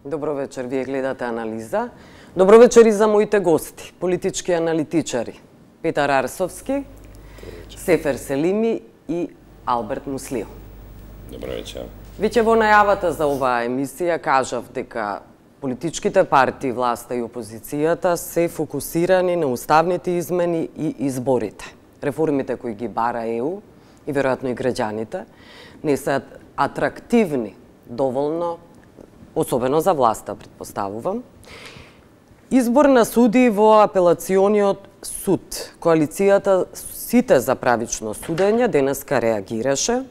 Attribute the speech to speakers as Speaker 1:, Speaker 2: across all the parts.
Speaker 1: Добро вечер, вие гледате Анализа. Добро вечер и за моите гости, политички аналитичари. Петар Арсовски, Сефер Селими и Алберт Муслио.
Speaker 2: Добро вечер.
Speaker 1: Веќе во најавата за оваа емисија кажав дека политичките партии, власта и опозицијата се фокусирани на уставните измени и изборите. Реформите кои ги бара ЕУ и веројатно и граѓаните не се атрактивни доволно, особено за власта, претпоставувам. Избор на суди во апелациониот суд. Коалицијата Сите за правично судење денеска реагираше.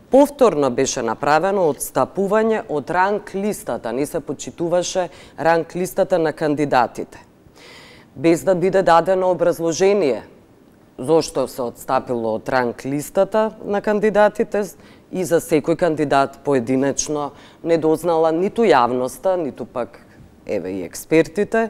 Speaker 1: Повторно беше направено отстапување од ранг листата, не се почитуваше ранг листата на кандидатите. Без да биде дадено образложение зошто се отстапило од ранг листата на кандидатите и за секој кандидат поединечно не дознала ниту јавноста, ниту пак еве и експертите.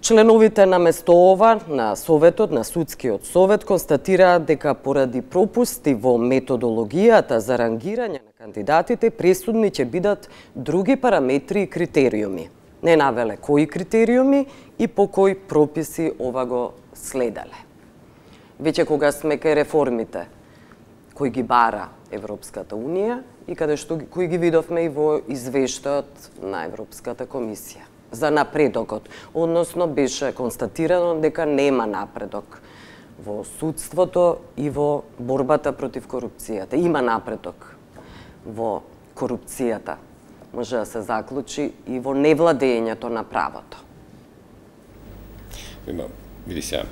Speaker 1: Членовите на место ова, на Советот, на Судскиот совет, констатираат дека поради пропусти во методологијата за рангирање на кандидатите, пресудни ќе бидат други параметри и критериуми. Не навеле кои критериуми и по кои прописи ова го следеле. Веќе кога сме кај реформите кои ги бара Европската Унија и каде што кои ги видовме и во извештајот на Европската комисија за напредокот, односно беше констатирано дека нема напредок во судството и во борбата против корупцијата. Има напредок во корупцијата, може да се заклучи и во невладењето на правото.
Speaker 2: Види се,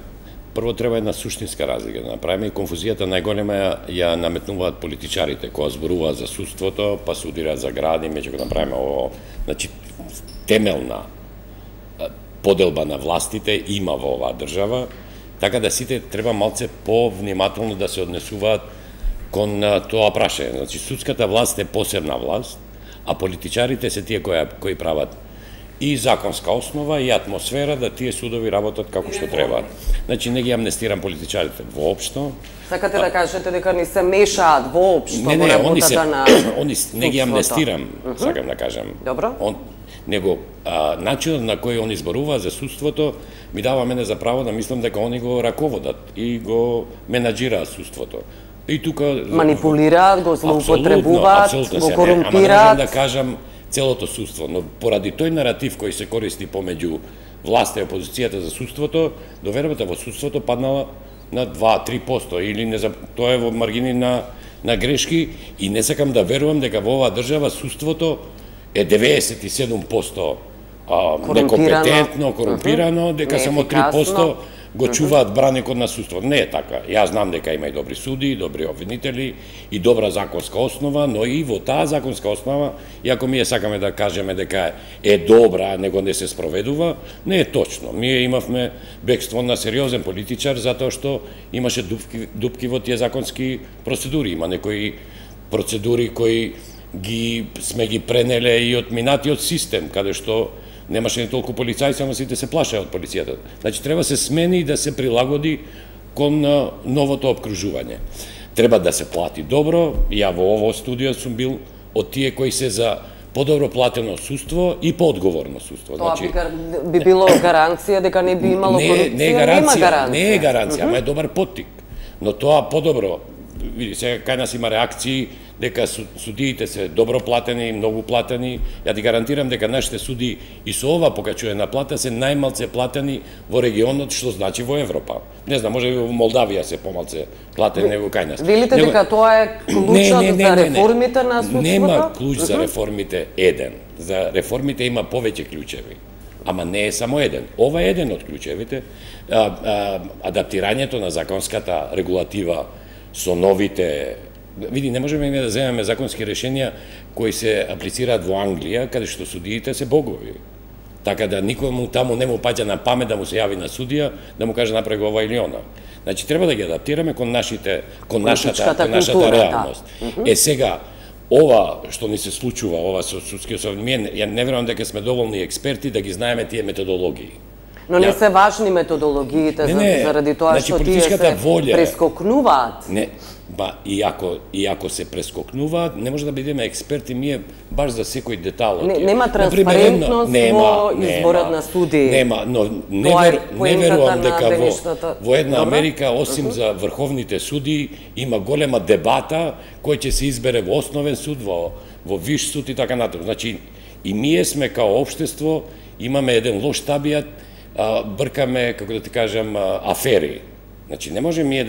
Speaker 2: прво треба една суштинска разлика да направиме и конфузијата најголема ја наметнуваат политичарите кои зборуваат за судството, па судираат за гради, меѓу го направиме ово, значи темелна поделба на властите има во оваа држава, така да сите треба малце повнимателно да се однесуваат кон тоа прашање. Значи судската власт е посебна власт, а политичарите се тие кои прават и законска основа и атмосфера да тие судови работат како што треба. Значи не ги амнестирам политичарите воопшто.
Speaker 1: Сакате да кажете дека не се мешаат воопшто во работата на судството?
Speaker 2: Не ги амнестирам, сакам да кажам.
Speaker 1: Добро.
Speaker 2: Него начинот на кој они зборуваат за судството ми дава мене за право да мислам дека они го раководат и го менаџираат судството. И тука
Speaker 1: манипулираат, го злоупотребуваат, го корумпираат.
Speaker 2: Ама не можам да кажам целото судство, но поради тој наратив кој се користи помеѓу власта и опозицијата за судството, довербата во судството паднала на 2-3% или не, тоа е во маргини на грешки и не сакам да верувам дека во оваа држава судството е 97% некомпетентно, корумпирано, дека само 3% го чуваат браникот на судството. Не е така. Јас знам дека има и добри суди, добри обвинители и добра законска основа, но и во таа законска основа, иако ние сакаме да кажеме дека е добра, него не се спроведува, не е точно. Ние имавме бегство на сериозен политичар затоа што имаше дупки во тие законски процедури. Има некои процедури кои сме ги пренеле и од минатиот систем, каде што немаше ни толку полицајци, ама сите се плашеа од полицијата. Значи, треба се смени и да се прилагоди кон новото обкружување. Треба да се плати добро, ја во ово студио сум бил од тие кои се за подобро платено судство и поодговорно судство.
Speaker 1: Тоа би било гаранција дека не би имало корупција?
Speaker 2: Не е гаранција, ама е добар поттик. Но тоа подобро, види, сега кај нас има реакции дека судиите се добро платени, многу платени. Ја ти гарантирам дека нашите суди и со ова покачување на плата се најмалце платени во регионот, што значи во Европа. Не знам, може и во Молдавија се помалце платени него кај нас.
Speaker 1: Велите дека тоа е клучот за реформите на судството?
Speaker 2: Нема клуч за реформите еден. За реформите има повеќе клучеви. Ама не е само еден. Ова е еден од клучевите. Адаптирањето на законската регулатива со новите. Види, не можеме да земеме законски решенија кои се аплицираат во Англија, каде што судиите се богови. Така да никому таму не му паѓа на памет да му се јави на судија, да му каже направи ова или она. Значи треба да ги адаптираме кон нашата реалност. Е сега ова што ни се случува, ова со судскиот совет, ја не верувам дека сме доволни експерти да ги знаеме тие методологии.
Speaker 1: Но не се важни методологиите заради тоа што тие се прескокнуваат.
Speaker 2: Не, и ако се прескокнуваат, не може да бидеме експерти ние баш за секој детал.
Speaker 1: Нема транспарентност во изборот на судии.
Speaker 2: Нема, но не верувам дека во една Америка, осим за врховните судии, има голема дебата кој ќе се избере во основен суд, во виш суд и така натаму. Значи, и ние сме као општество, имаме еден лош табијат, бркаме, како да ти кажам, афери. Значи, не може ние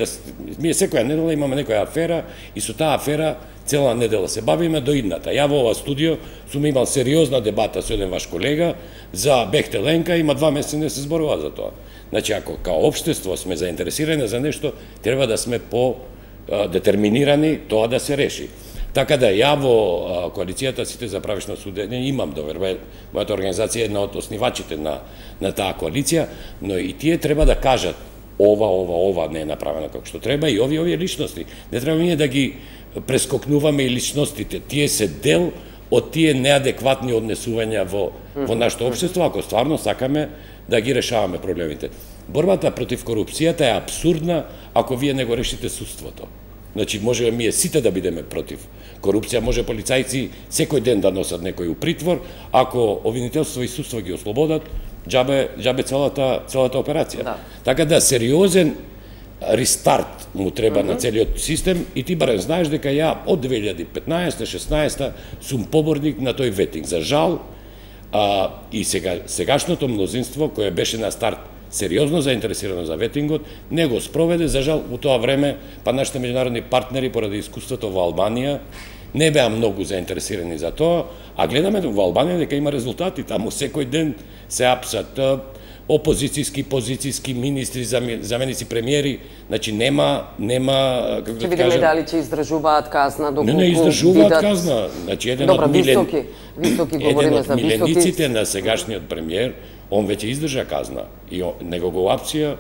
Speaker 2: секоја недела имаме некоја афера и со таа афера цела недела се бавиме до идната. Ја во ова студио сум имал сериозна дебата со еден ваш колега за Бехтеленка, има 2 месеци не се зборува за тоа. Значи, ако као општество сме заинтересирани за нешто, треба да сме по-детерминирани тоа да се реши. Така да ја во коалицијата Сите за правишно судење имам доверба, мојата организација е една од основачите на таа коалиција, но и тие треба да кажат ова не е направено како што треба и овие личности. Не треба ние да ги прескокнуваме и личностите. Тие се дел од тие неадекватни однесувања во нашето општество, ако стварно сакаме да ги решаваме проблемите. Борбата против корупцијата е абсурдна ако вие не го решите судството. Значи, може ние сите да бидеме против корупција, може полицајци секој ден да носат некој у притвор, ако обвинителство и судство ги ослободат, џабе целата операција. Да. Така да, сериозен рестарт му треба на целиот систем и ти барем знаеш дека ја од 2015-16 сум поборник на тој ветинг. За жал, и сегашното мнозинство, кое беше на старт сериозно заинтересирано за ветингот, не го спроведе. За жал, у тоа време, нашите меѓународни партнери, поради искуството во Албанија, не беа многу заинтересирани за тоа, а гледаме во Албанија дека има резултати. Таму секој ден се апсат опозицијски, позицијски министри, заменици премиери, значи нема како да кажам. Ќе
Speaker 1: видиме дали ќе издржуваат казна доколку
Speaker 2: не издржуваат казна. Значи еден од
Speaker 1: високи говориме за високи.
Speaker 2: Милениците на сегашниот премиер, он веќе издржа казна и него го апсија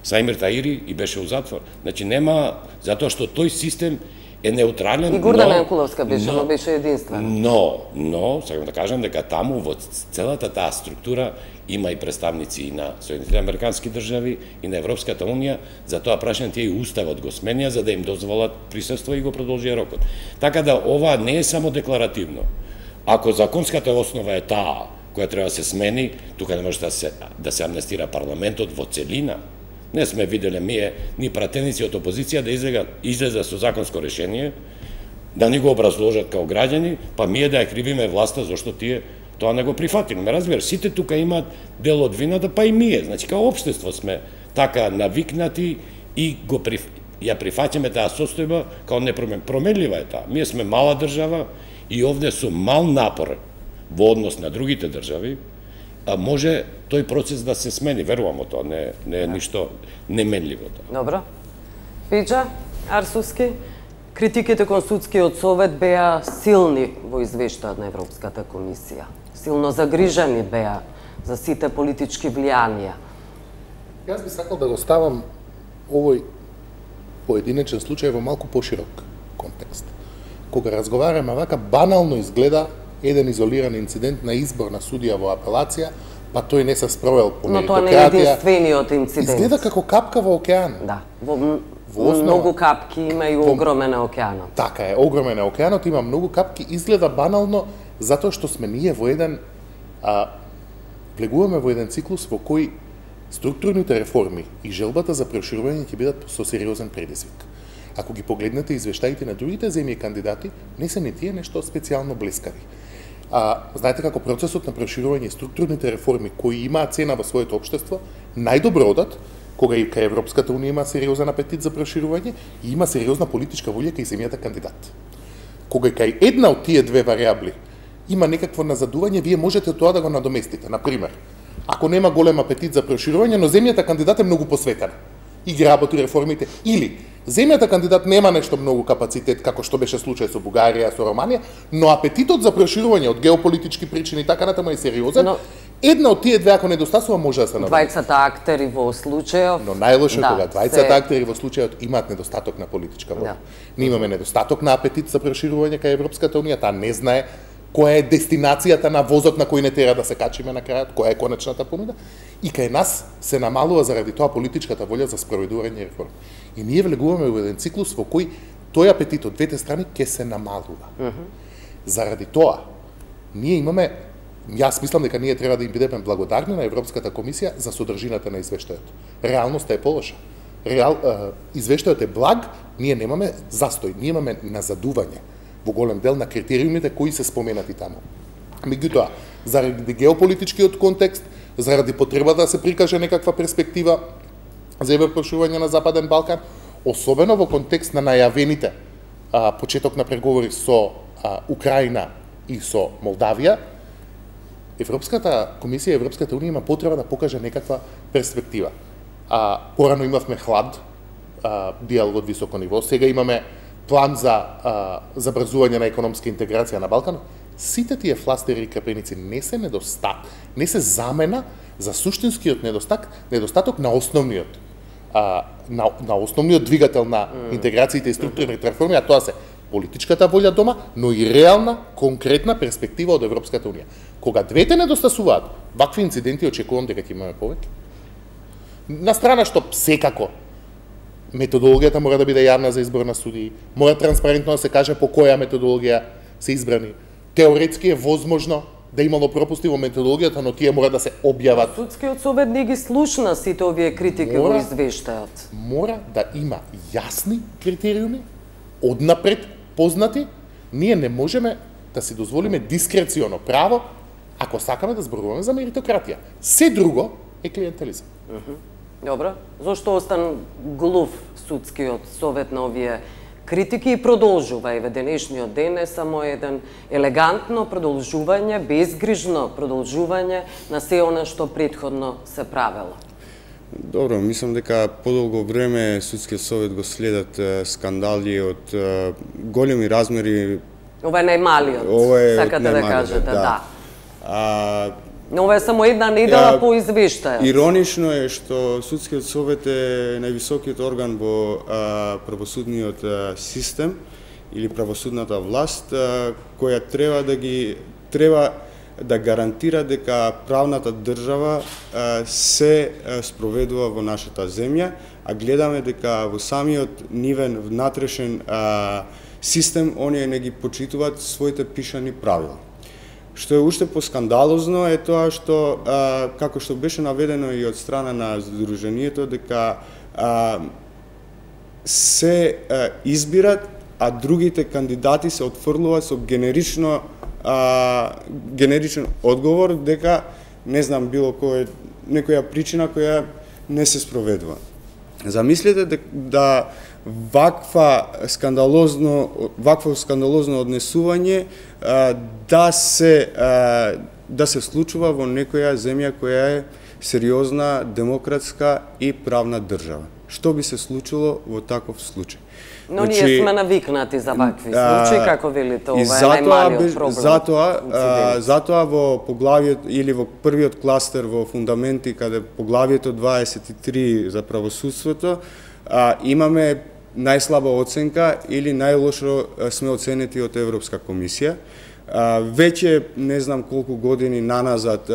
Speaker 2: Саимир Таири и беше у затвор. Значи нема, затоа што тој систем е неутрален.
Speaker 1: И Гордана Јанкуловска беше, но беше единствена.
Speaker 2: Но, сакам да кажам дека таму во целата таа структура има и представници и на Соединетите американски држави и на Европската унија, затоа прашање тие и уставот го сменија за да им дозволат присуство и го продолжија рокот. Така да ова не е само декларативно. Ако законската основа е таа која треба да се смени, тука не може да се амнестира парламентот во целина. Не сме виделе ни пратеници од опозиција да излезат со законско решение, да ни го образложат као граѓани, па ние да ја кривиме власта зашто тие тоа не го прифатиле. Ме разбираш, сите тука имаат дел од вината, па и ние. Значи, као општество сме така навикнати и ја прифаќаме таа состојба као непроменлива е таа. Ние сме мала држава и овде со мал напор во однос на другите држави, може тој процес да се смени, верувам во тоа, не е ништо неменливо.
Speaker 1: Добро. Пиџа Арсуски, критиките кон судскиот совет беа силни во извештајот на Европската комисија. Силно загрижени беа за сите политички влијанија.
Speaker 3: Јас би сакал да го ставам овој поединечен случај во малку поширок контекст. Кога разговараме вака, банално изгледа еден изолиран инцидент на избор на судија во апелација, па тој не се спровел по меритократија.
Speaker 1: Но тоа не е единствениот инцидент.
Speaker 3: Изгледа како капка во океан.
Speaker 1: Да, во многу капки има и огромен океанот.
Speaker 3: Така е, огромен е океанот, има многу капки, изгледа банално затоа што сме ние во еден влегуваме во еден циклус во кој структурните реформи и желбата за проширување ќе бидат со сериозен предизвик. Ако ги погледнете извештаите на другите земји кандидати, не се не тие нешто специјално блескави. Знаете како процесот на проширување и структурните реформи кои имаат цена во своето општество, најдобро одат кога и кај Европската унија има сериозен апетит за проширување и има сериозна политичка волја кај земјата кандидат. Кога и кај една од тие две варијабли има некакво назадување, вие можете тоа да го надоместите. Например, ако нема голем апетит за проширување, но земјата кандидат е многу посветена и ги работи реформите, или земјата кандидат нема нешто многу капацитет, како што беше случај со Бугарија, со Романија, но апетитот за проширување од геополитички причини и така натаму е сериозен, една од тие две ако недостасува може да се надомести.
Speaker 1: Двајцата актери во случајот.
Speaker 3: Но најлошо е кога двајцата актери во случајот имаат недостаток на политичка волја. Ние имаме недостаток на апетит за проширување кај Европската унија, таа не знае која е дестинацијата на возот на кој не тера да се качиме на крајот, која е конечната понуда, и кај нас се намалува заради тоа политичката волја за спроведување реформи. И ние влегуваме во еден циклус во кој тој апетит од двете страни ќе се намалува. Заради тоа, ние имаме, јас мислам дека ние треба да им бидеме благодарни на Европската комисија за содржината на извештајот. Реалноста е полоша. Извештајот е благ, ние немаме застој, ние имаме назадување во голем дел на критериумите кои се споменати таму. Меѓутоа, заради геополитичкиот контекст, заради потребата да се прикаже некаква перспектива за проширување на Западен Балкан, особено во контекст на најавените почеток на преговори со Украина и со Молдавија, Европската комисија и Европската унија има потреба да покаже некаква перспектива. Порано имавме хлад, диалог од високо ниво, сега имаме план за забрзување на економска интеграција на Балкан. Сите тие фластери и крапеници не се недостаток, не се замена за суштинскиот недостаток на основниот на основниот двигател на интеграциите и структурните реформи, а тоа се политичката волја дома, но и реална, конкретна перспектива од Европската унија. Кога двете недостасуваат, вакви инциденти очекувам дека ќе имаме повеќе. На страна што секако методологијата мора да биде јавна за избор на судии, мора транспарентно да се каже по која методологија се избрани. Теоретски е возможно да имало пропусти во методологијата, но тие мора да се објават.
Speaker 1: Судскиот совет не ги слушна сите овие критики во извештајот.
Speaker 3: Мора да има јасни критериуми, однапред познати. Ние не можеме да си дозволиме дискреционо право ако сакаме да зборуваме за меритократија. Се друго е клиентелизам.
Speaker 1: Добро. Зошто остан глув судскиот совет на овие критики и продолжува? Еве денешниот ден е само еден елегантно продолжување, безгрижно продолжување на се она што претходно се правело.
Speaker 4: Добро, мислам дека подолго време судскиот совет го следат скандали од големи размери.
Speaker 1: Ова е најмалиот, сакате да кажете, да. Но ова е само една недела по извештајот.
Speaker 4: Иронично е што судскиот совет е највисокиот орган во правосудниот систем или правосудната власт, која треба да гарантира дека правната држава се спроведува во нашата земја, а гледаме дека во самиот нивен внатрешен систем оние не ги почитуваат своите пишани правила. Што е уште поскандалозно е тоа што, како што беше наведено и од страна на Сдруженијето, дека се избират, а другите кандидати се отфрлуваат со генеричен одговор дека не знам било некоја причина која не се спроведува. Замислете да вакво скандалозно однесување да се случува во некоја земја која е сериозна, демократска и правна држава. Што би се случило во таков случај?
Speaker 1: Но ние сме навикнати за вакви случаи, како велите, ова е најмалиот проблем.
Speaker 4: Затоа во поглавието или во првиот кластер во фундаменти, каде поглавието 23 за правосудството, имаме најслаба оценка или најлошо сме оценети од Европска комисија. Веќе не знам колку години наназад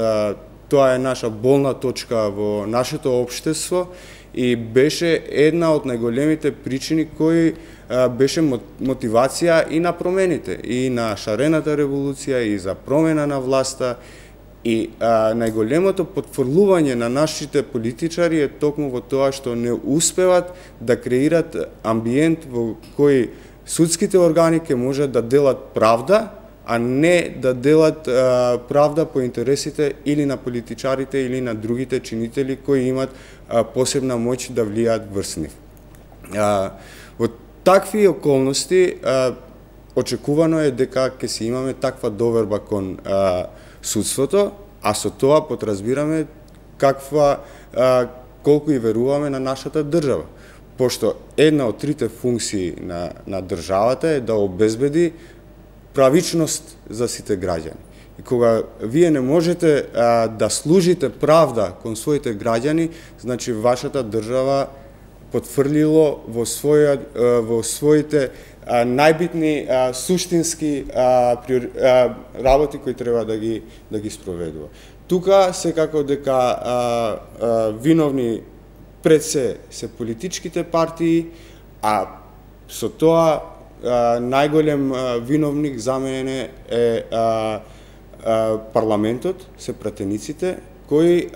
Speaker 4: тоа е наша болна точка во нашето општество и беше една од најголемите причини кои беше мотивација и на промените, и на шарената револуција, и за промена на власта. И најголемото потфрлување на нашите политичари е токму во тоа што не успеват да креират амбиент во кој судските органи ќе можат да делат правда, а не да делат правда по интересите или на политичарите или на другите чинители кои имат посебна моќ да влијаат врз нив. Во такви околности очекувано е дека ќе си имаме таква доверба кон судството, а со тоа подразбираме колку и веруваме на нашата држава. Пошто една од трите функции на државата е да обезбеди правичност за сите граѓани. И кога вие не можете да служите правда кон своите граѓани, значи вашата држава потврлило во своите најбитни суштински работи кои треба да ги спроведува. Тука секако дека виновни пред се политичките партии, а со тоа најголем виновник за мене е парламентот, се пратениците, кои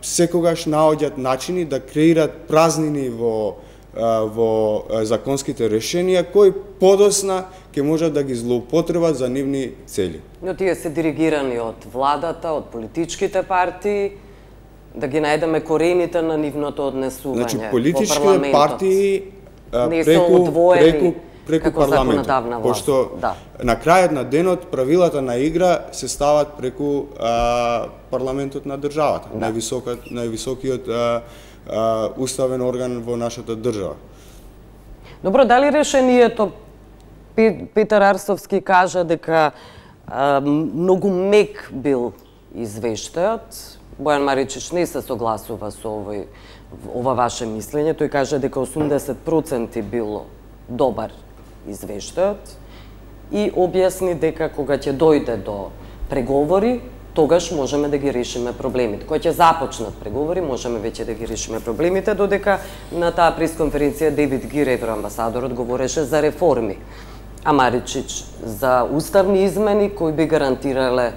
Speaker 4: секогаш наоѓаат начини да креират празнини во законските решенија, кои подосна ќе можат да ги злоупотребат за нивни цели.
Speaker 1: Но тие се диригирани од владата, од политичките партии, да ги најдеме корените на нивното однесување.
Speaker 4: Значи, политичките партии
Speaker 1: не се одвоени
Speaker 4: преку парламентот, пошто на крајот на денот правилата на игра се стават преку парламентот на државата, највисокиот уставен орган во нашата држава.
Speaker 1: Добро, дали решението, Петар Арцовски кажа дека многу мек бил извештајот, Бојан Маричич не се согласува со ова ваше мислење, тој кажа дека 80% било добар извештајот и објасни дека кога ќе дојде до преговори, тогаш можеме да ги решиме проблемите. Кога ќе започнат преговори, можеме веќе да ги решиме проблемите, додека на таа пресконференција Девид Гир, евроамбасадорот, говореше за реформи, а Маричич за уставни измени кои би гарантирале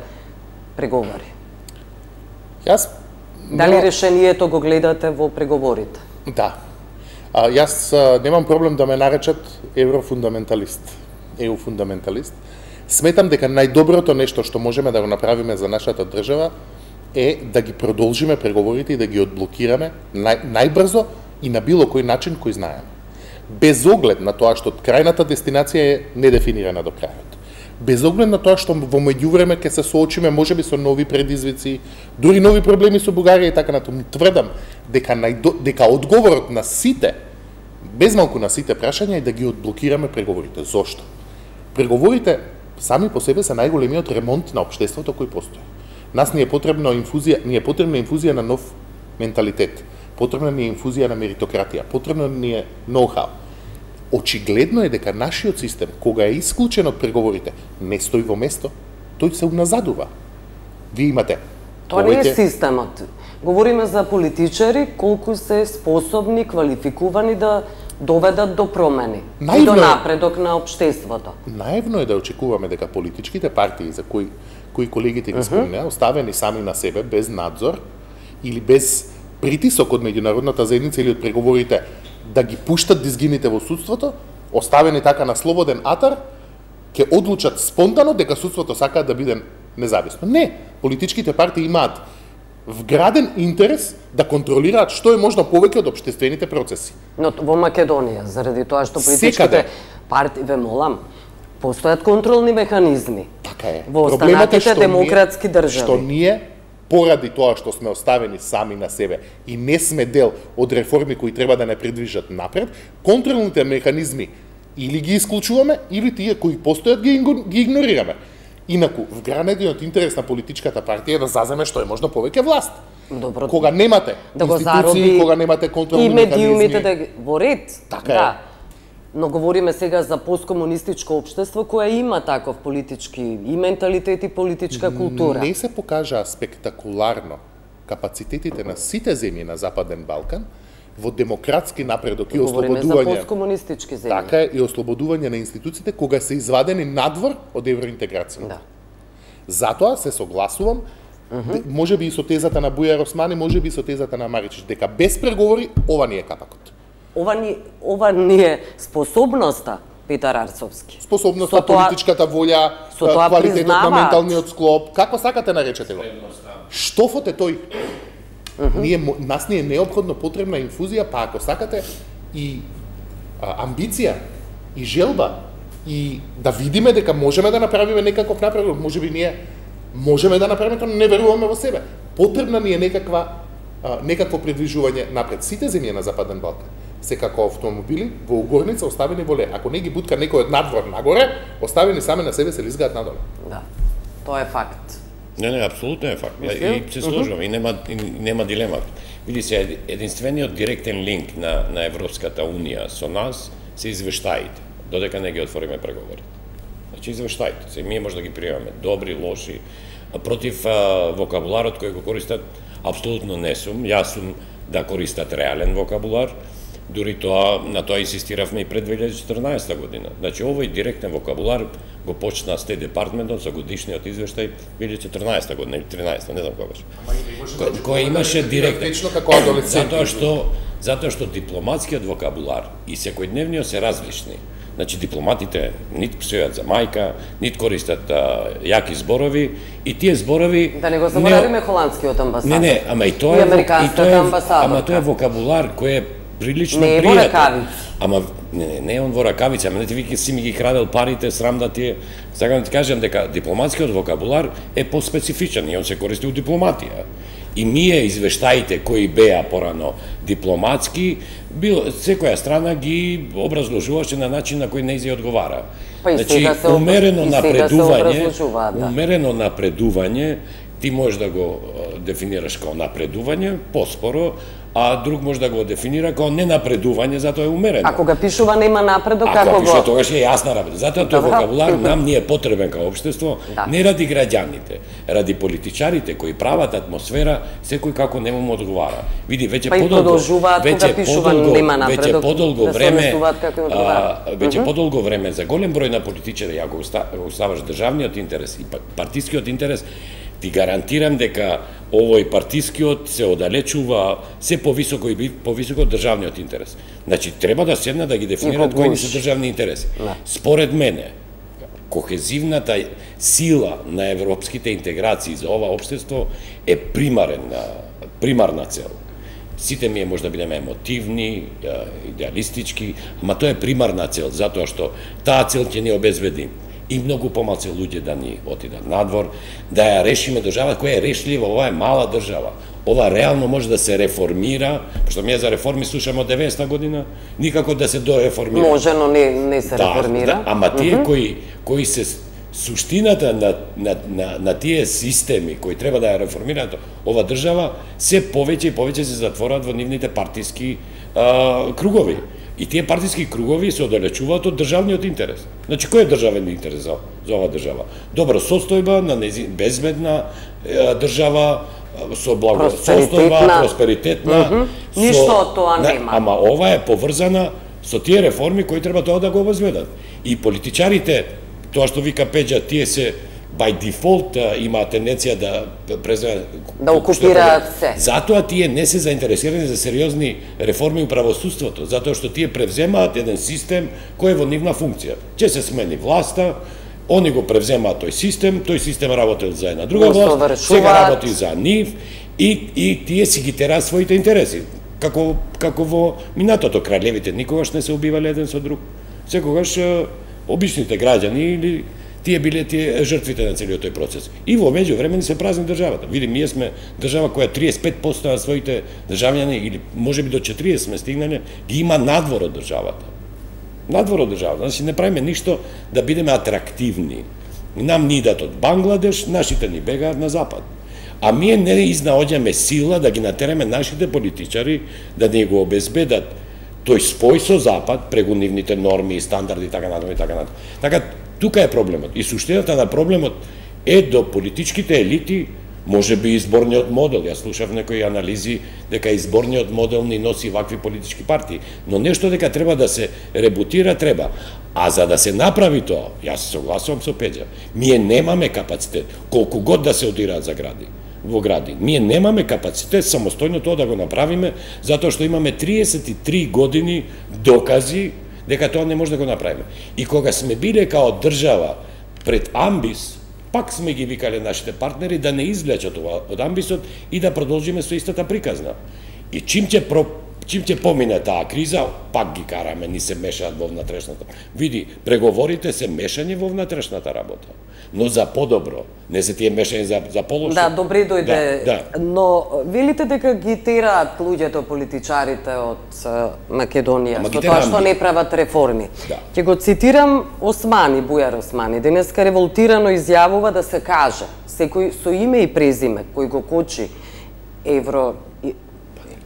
Speaker 1: преговори. Дали решението го гледате во преговорите?
Speaker 3: Да. Јас немам проблем да ме наречат еврофундаменталист, еуфундаменталист. Сметам дека најдоброто нешто што можеме да го направиме за нашата држава е да ги продолжиме преговорите и да ги одблокираме најбрзо и на било кој начин кој знаеме. Без оглед на тоа што крајната дестинација е недефинирана до крајот. Без оглед на тоа што во меѓувреме ќе се соочиме можеби со нови предизвици, дури нови проблеми со Бугарија и така натаму. Тврдам дека одговорот на сите, без малку на сите прашања е да ги одблокираме преговорите. Зошто? Преговорите сами по себе се најголемиот ремонт на општеството кој постои. Нас ни е потребна инфузија на нов менталитет. Потребна ни е инфузија на меритократија, потребно ни е ноу-хау. Очигледно е дека нашиот систем, кога е исклучен од преговорите, не стои во место, тој се уназадува. Вие имате
Speaker 1: Тоа не е системот. Говориме за политичари колку се способни, квалификувани да доведат до промени и до напредок на општеството.
Speaker 3: Наивно е да очекуваме дека политичките партии за кои колегите ги спомнеа, оставени сами на себе, без надзор или без притисок од меѓународната заедница или од преговорите, да ги пуштат дизгините во судството, оставени така на слободен атар, ќе одлучат спонтано дека судството сакаат да биде независно. Не, политичките партии имаат вграден интерес да контролираат што е можно повеќе од општествените процеси.
Speaker 1: Но во Македонија, заради тоа што политичките партии, ве молам, постојат контролни механизми.
Speaker 3: Така е.
Speaker 1: Во останатите демократски држави.
Speaker 3: Што ние поради тоа што сме оставени сами на себе и не сме дел од реформи кои треба да не придвижат напред, контролните механизми или ги исклучуваме, или тие кои постојат ги игнорираме. Инаку, вградениот интерес на политичката партија е да заземе што е можно повеќе власт.
Speaker 1: Добро,
Speaker 3: кога немате
Speaker 1: да
Speaker 3: институции, кога немате контролни механизми.
Speaker 1: И медиумите да во ред.
Speaker 3: Така
Speaker 1: да. Но говориме сега за посткомунистичко општество кое има таков политички и менталитет и политичка култура.
Speaker 3: Не се покажаа спектакуларно капацитетите на сите земји на Западен Балкан во демократски напредок и ослободување.
Speaker 1: Говориме за посткомунистички земји.
Speaker 3: Така е, и ослободување на институциите кога се извадени надвор од евроинтеграцијата.
Speaker 1: Да.
Speaker 3: Затоа се согласувам, можеби и со тезата на Бујар Османи, можеби и со тезата на Маричич, дека без преговори ова не е капакот.
Speaker 1: Ова не е способноста, Петар Арцовски.
Speaker 3: Способноста, политичката волја, квалитетот на менталниот склоп, како сакате наречете го. Штофот е тој. Нас ни е неопходно потребна инфузија, па ако сакате и амбиција, и желба, и да видиме дека можеме да направиме некаков напредок, можеби ние можеме да направиме тоа, не веруваме во себе. Потребна ни е некакво придвижување напред. Сите земји на Западен Балкан се како автомобили во угорница оставени во ле. Ако не ги бутка некој од надвор нагоре, оставени сами на себе се лизгаат надоле.
Speaker 1: Да, тоа е факт.
Speaker 2: Не, апсолутно е факт. И се сложувам, и нема дилема. Види се, единствениот директен линк на Европската Унија со нас се извештаите, додека не ги отвориме преговори. Значи, извештаите се, ние може да ги приемаме, добри, лоши, против вокабуларот кој го користат, апсолутно не сум. Јас сум да користат реален вокабулар, дури на тоа инсистиравме и пред 2014 година. Значи, овој директен вокабулар го почна Стейт департментот со годишниот извештај 2014 година или 13, не знам кога беше. Кој имаше директен.
Speaker 3: Како адолесцент.
Speaker 2: Затоа што дипломатскиот вокабулар и секојдневниот се различни. Значи, дипломатите нит псујат за мајка, нит користат јаки зборови, и тие зборови...
Speaker 1: Да не го заборавиме холандскиот амбасадор.
Speaker 2: Не, ама и тоа е вокабулар кој е прилично пријатен. Не е во ракавица. Ама не е он во ракавица, ама не ти вики си ми ги крадел парите, срам да ти е. Сакам да ти кажам дека дипломатскиот вокабулар е поспецифичен и он се користи у дипломатија. И ние извештаите кои беа порано дипломатски, секоја страна ги образложуваше на начин на кој не зи одговара. Значи, умерено напредување, ти можеш да го дефинираш како напредување, поспоро, а друг може да го дефинира како ненапредување, затоа е умерено.
Speaker 1: Ако го пишува нема напредок, како го...
Speaker 2: Ако пишува, тогаш е јасна работа. Затоа тој вокабулар нам не е потребен како општество, не ради граѓаните, ради политичарите кои прават атмосфера, секој како не му одговара. Види, веќе подолго време, за голем број на политичари, ако оставаш државниот интерес и партискиот интерес, ти гарантирам дека овој партискиот се оддалечува се повисоко и повисоко од државниот интерес. Значи, треба да седнат да ги дефинират кои се државни интереси. Според мене, кохезивната сила на европските интеграции за ова општество е примарна цел. Сите ми може да бидеме емотивни, идеалистички, ама тоа е примарна цел, затоа што таа цел ќе ни обезбеди и многу помалку луѓе да ни отидат надвор, да ја решиме држава која е решлива, ова е мала држава. Ова реално може да се реформира, пошто ние за реформи слушаме од 90-та година, никако да се дореформира.
Speaker 1: Може, но не се реформира.
Speaker 2: Ама тие кои се суштината на тие системи кои треба да ја реформираат ова држава, се повеќе и повеќе се затворат во нивните партиски кругови. И тие партиски кругови се оддалечуваат од државниот интерес. Значи, кој е државен интерес за ова држава? Добра состојба на безбедна држава, со благосостојба, просперитетна.
Speaker 1: Ништо од тоа нема.
Speaker 2: Ама ова е поврзана со тие реформи кои треба тоа да го обезбедат. И политичарите, тоа што вика Пеџа, тие се by default имаат тенденција да
Speaker 1: окупираат се.
Speaker 2: Затоа тие не се заинтересирани за сериозни реформи у правосудството, затоа што тие превземаат еден систем кој е во нивна функција. Ќе се смени власта, они го превземаат тој систем работел за една друга власт, сега работи за нив и тие си ги тераат своите интереси. Како во минатото, краљевите никогаш не се убивале еден со друг. Секогаш обичните граѓани или тие биле жртвите на целиот тој процес. И во меѓувреме се празни државата. Види, ние сме држава која 35% на своите државјани, или можеби до 40 сме стигнале, ги има надвор од државата. Надвор од државата. Значи, не правиме ништо да бидеме атрактивни. Нам ни идат од Бангладеш, нашите ни бегаат на запад. А ние не изнаоѓаме сила да ги натераме нашите политичари да не го обезбедат тој спој со запад преку нивните норми и стандарди и така натаму и така натаму. Така, тука е проблемот. И суштината на проблемот е до политичките елити, може би изборниот модел. Јас слушав некои анализи дека изборниот модел ни носи вакви политички партии. Но нешто дека треба да се ребутира, треба. А за да се направи тоа, јас се согласувам со Пеџа, ние немаме капацитет, колку год да се одираат за во гради. Ние немаме капацитет самостојно тоа да го направиме, затоа што имаме 33 години докази дека тоа не може да го направиме. И кога сме биле као држава пред амбис, пак сме ги викале нашите партнери да не извлечат од амбисот и да продолжиме со истата приказна. И чим ќе помине таа криза, пак ги караме, ни се мешаат во внатрешната. Види, преговорите се мешање во внатрешната работа, но за подобро, не се тие мешање за полошо.
Speaker 1: Да, добре дојде. Да. Но велите дека ги тераат луѓето, политичарите од Македонија, со тоа што не прават реформи.
Speaker 2: Да.
Speaker 1: Ќе го цитирам Османи, Бујар Османи, денеска револтирано изјавува да се каже, секој со име и презиме кој го кочи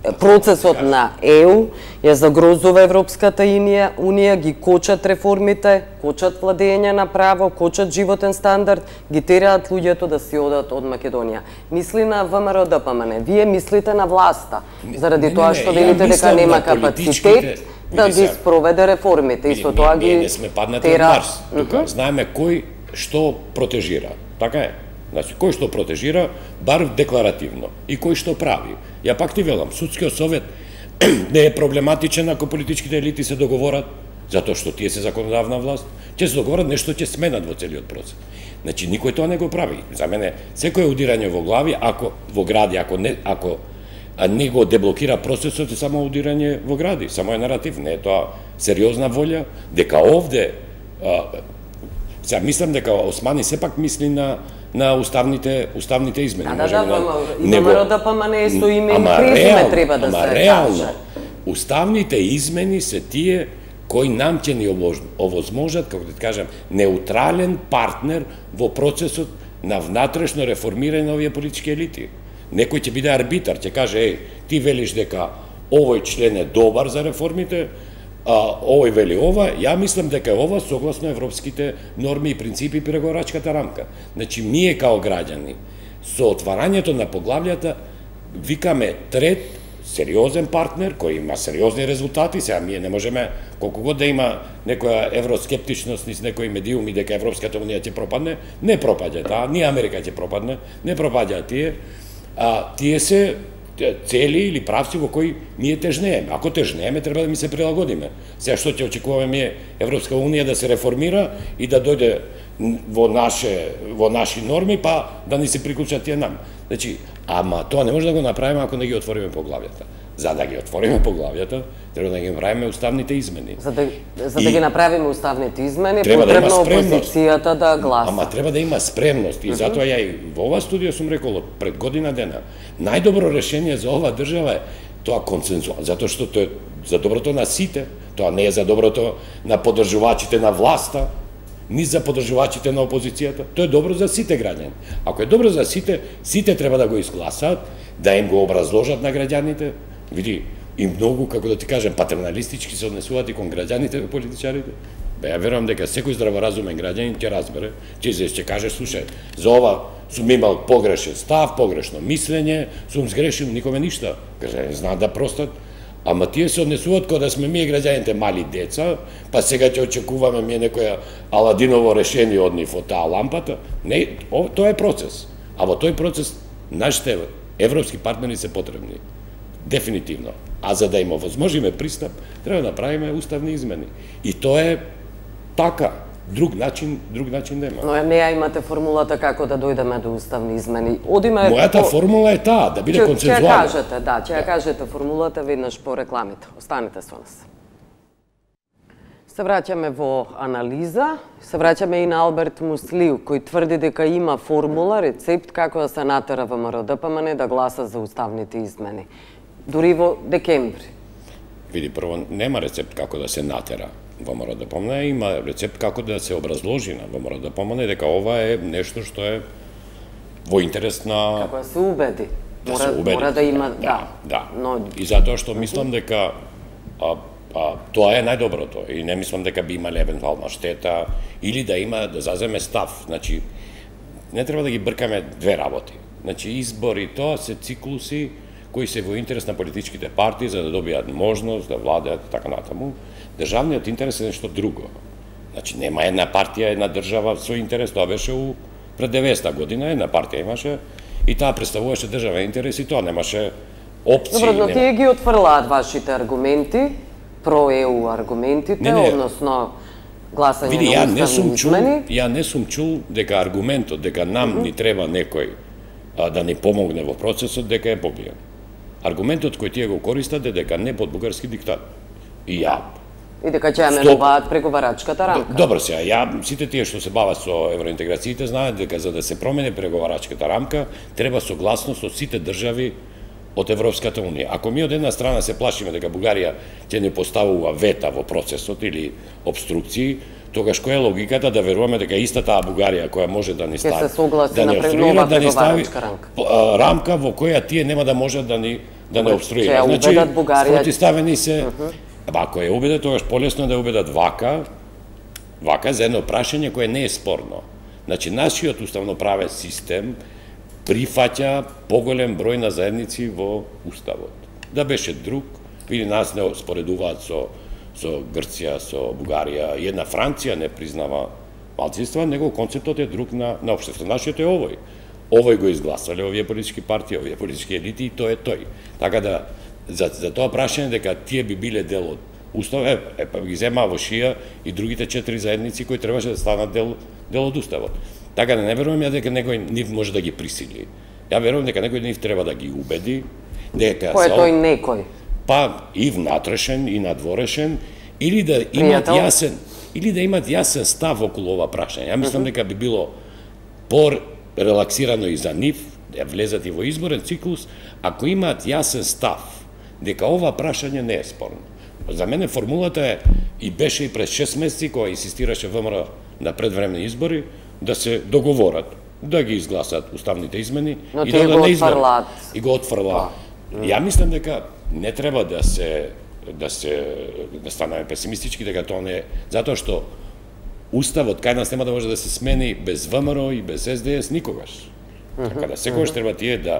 Speaker 1: процесот на ЕУ, ја загрозува Европската унија, ги кочат реформите, кочат владење на право, кочат животен стандард, ги тераат луѓето да си одат од Македонија. Мисли на ВМРО ДПМН, вие мислите на власта, заради тоа што велите дека нема капацитет да ги спроведе реформите. Исто тоа ги
Speaker 2: не сме паднати од Марс. Тука знаеме кој што протежира. Така е. Значи, кој што протежира, бар декларативно, и кој што прави. Ја пак ти велам, судскиот совет не е проблематичен ако политичките елити се договорат, затоа што тие се законодавна власт, ќе се договорат нешто ќе сменат во целиот процес. Значи, никој тоа не го прави. За мене, секој удирање во глави, во гради, ако не го деблокира процесот, е само удирање во гради, само е наратив, не е тоа сериозна волја, дека овде, мислам дека Османи сепак мисли на уставните измени.
Speaker 1: И ВМРО ДПМН со име и презиме треба да се каже.
Speaker 2: Реално, уставните измени се тие кои нам ќе ни овозможат, како да кажам, неутрален партнер во процесот на внатрешно реформирање на овие политички елити. Некој ќе биде арбитар, ќе каже, ти велиш дека овој член е добар за реформите, овој вели ова, ја мислам дека е ова согласно европските норми и принципи и преговарачката рамка. Значи, ние као граѓани, со отварањето на поглављата, викаме трет, сериозен партнер, кој има сериозни резултати, сега ние не можеме, колку год да има некоја евроскептичност низ некои медиуми дека Европската унија ќе пропадне, не пропаѓа, ни Америка ќе пропадне, не пропаѓа тие, тие се цели или правци во кои ние тежнееме. Ако тежнееме, треба да ми се прилагодиме. Сега што ќе очекуваме ние Европска унија да се реформира и да дојде во наши норми, па да ни се приклучат тие нам. Значи, ама тоа не може да го направиме ако не ги отвориме поглавјата. За да ги отвориме поглавјата, треба да ги направиме уставните измени.
Speaker 1: За да ги направиме уставните измени, потребно опозицијата да гласа.
Speaker 2: Ама треба да има спремност и затоа ја и во ова студија сум рекол пред година дена, најдобро решение за ова држава е тоа консензуално, затоа што тоа е за доброто на сите, тоа не е за доброто на поддржувачите на власта, ни за поддржувачите на опозицијата, тоа е добро за сите граѓани. Ако е добро за сите, сите треба да го изгласаат, да им го образложат на граѓаните. Види, и многу, како да ти кажем, патерналистички се однесуваат и кон граѓаните и политичарите. Ја верувам дека секој здраворазумен граѓанин ќе разбере, ќе каже, слушај, за ова сум имал погрешен став, погрешно мислење, сум сгрешил, никоме ништа. Граѓани знаат да простат, ама тие се однесуваат кога да сме ние граѓаните мали деца, па сега ќе очекуваме ние некоја Аладиново решение од нив од таа лампата. Не, тоа е процес. А во тој процес нашите европски партнери се потребни. Дефинитивно. А за да им овозможиме пристап, треба да направиме уставни измени. И тоа е така. Друг начин нема.
Speaker 1: Но не ја имате формулата како да дојдеме до уставни измени.
Speaker 2: Мојата формула е таа, да биде консензуална.
Speaker 1: Ќе ја кажете формулата веднаш по рекламите. Останете со нас. Се враќаме во анализа, се враќаме и на Алберт Муслиу, кој тврди дека има формула, рецепт како да се натера ВМРО ДПМН да гласа за уставните измени. Дури во декември.
Speaker 2: Види, прво, нема рецепт како да се натера ВМРО ДПМН, има рецепт како да се образложи на ВМРО ДПМН дека ова е нешто што е во интерес на...
Speaker 1: Како да се убеди.
Speaker 2: Да се убеди.
Speaker 1: Мора да има,
Speaker 2: да. И затоа што мислам дека тоа е најдоброто и не мислам дека би имале евентуална штета или да заземе став. Значи, не треба да ги бркаме две работи. Значи, избори, тоа се циклуси кои се во интерес на политичките партии за да добијат можност да владеат и така натаму. Државниот интерес е нешто друго. Значи, нема една партија, една држава со интерес, тоа беше пред 90-та година, една партија имаше и таа представуваше државен интерес и тоа немаше опции.
Speaker 1: Добро, но тие ги отфрлаат вашите аргументи, про-ЕУ аргументите, односно гласање на уставни измени.
Speaker 2: Ја не сум чул дека аргументот дека нам ни треба некој да ни помогне во процесот дека е побиен. Аргументот кој тие го користат е дека не под бугарски диктат. И
Speaker 1: дека ќе ја менуваат преговарачката рамка.
Speaker 2: Добро сега, сите тие што се бават со евроинтеграциите знаат дека за да се промени преговарачката рамка треба согласност од сите држави од Европската унија. Ако ми од една страна се плашиме дека Бугарија ќе не поставува вета во процесот или обструкции, тогаш која е логиката да веруваме дека иста таа Бугарија која може да ни стави,
Speaker 1: се согласи
Speaker 2: да
Speaker 1: на
Speaker 2: не
Speaker 1: нова
Speaker 2: да ни стави
Speaker 1: преговарачка рамка.
Speaker 2: рамка во која тие нема да можат да не обструира.
Speaker 1: Значи,
Speaker 2: спротивставени се. Ако ја убедат, тогаш полесно да ја убедат вака за едно прашање кое не е спорно. Значи, нашиот уставноправен систем прифаќа поголем број на заедници во Уставот. Да беше друг, види нас не споредуваат со Грција, со Бугарија, и една Франција не признава малцинства, него концептот е друг на општество. Нашиот е овој. Овој го изгласале овие политички партии, овие политички елити и тој е тој. Така да, за тоа прашање дека тие би биле дел од Уставот, па ги зема во шија и другите 4 заедници кои требаше да станат дел од Уставот. Така да не верувам ја дека некој нив може да ги присили. Ја верувам дека некој нив треба да ги убеди, дека
Speaker 1: кој е тој некој?
Speaker 2: Па и внатрешен и надворешен, или да имат јасен став околу ова прашање. Ја мислам дека би било по-релаксирано и за нив да влезат и во изборен циклус ако имаат јасен став дека ова прашање не е спорно. За мене формулата е и беше и пред 6 месеци кога инсистираше ВМРО на предвременни избори да се договорат, да ги изгласат уставните измени
Speaker 1: и да не
Speaker 2: изборат. И го отфрлаат. Ја мислам дека не треба да станеме песимистички дека тоа не е, затоа што Уставот кај нас нема да може да се смени без ВМРО и без СДС никогаш. Така да секогаш треба тие да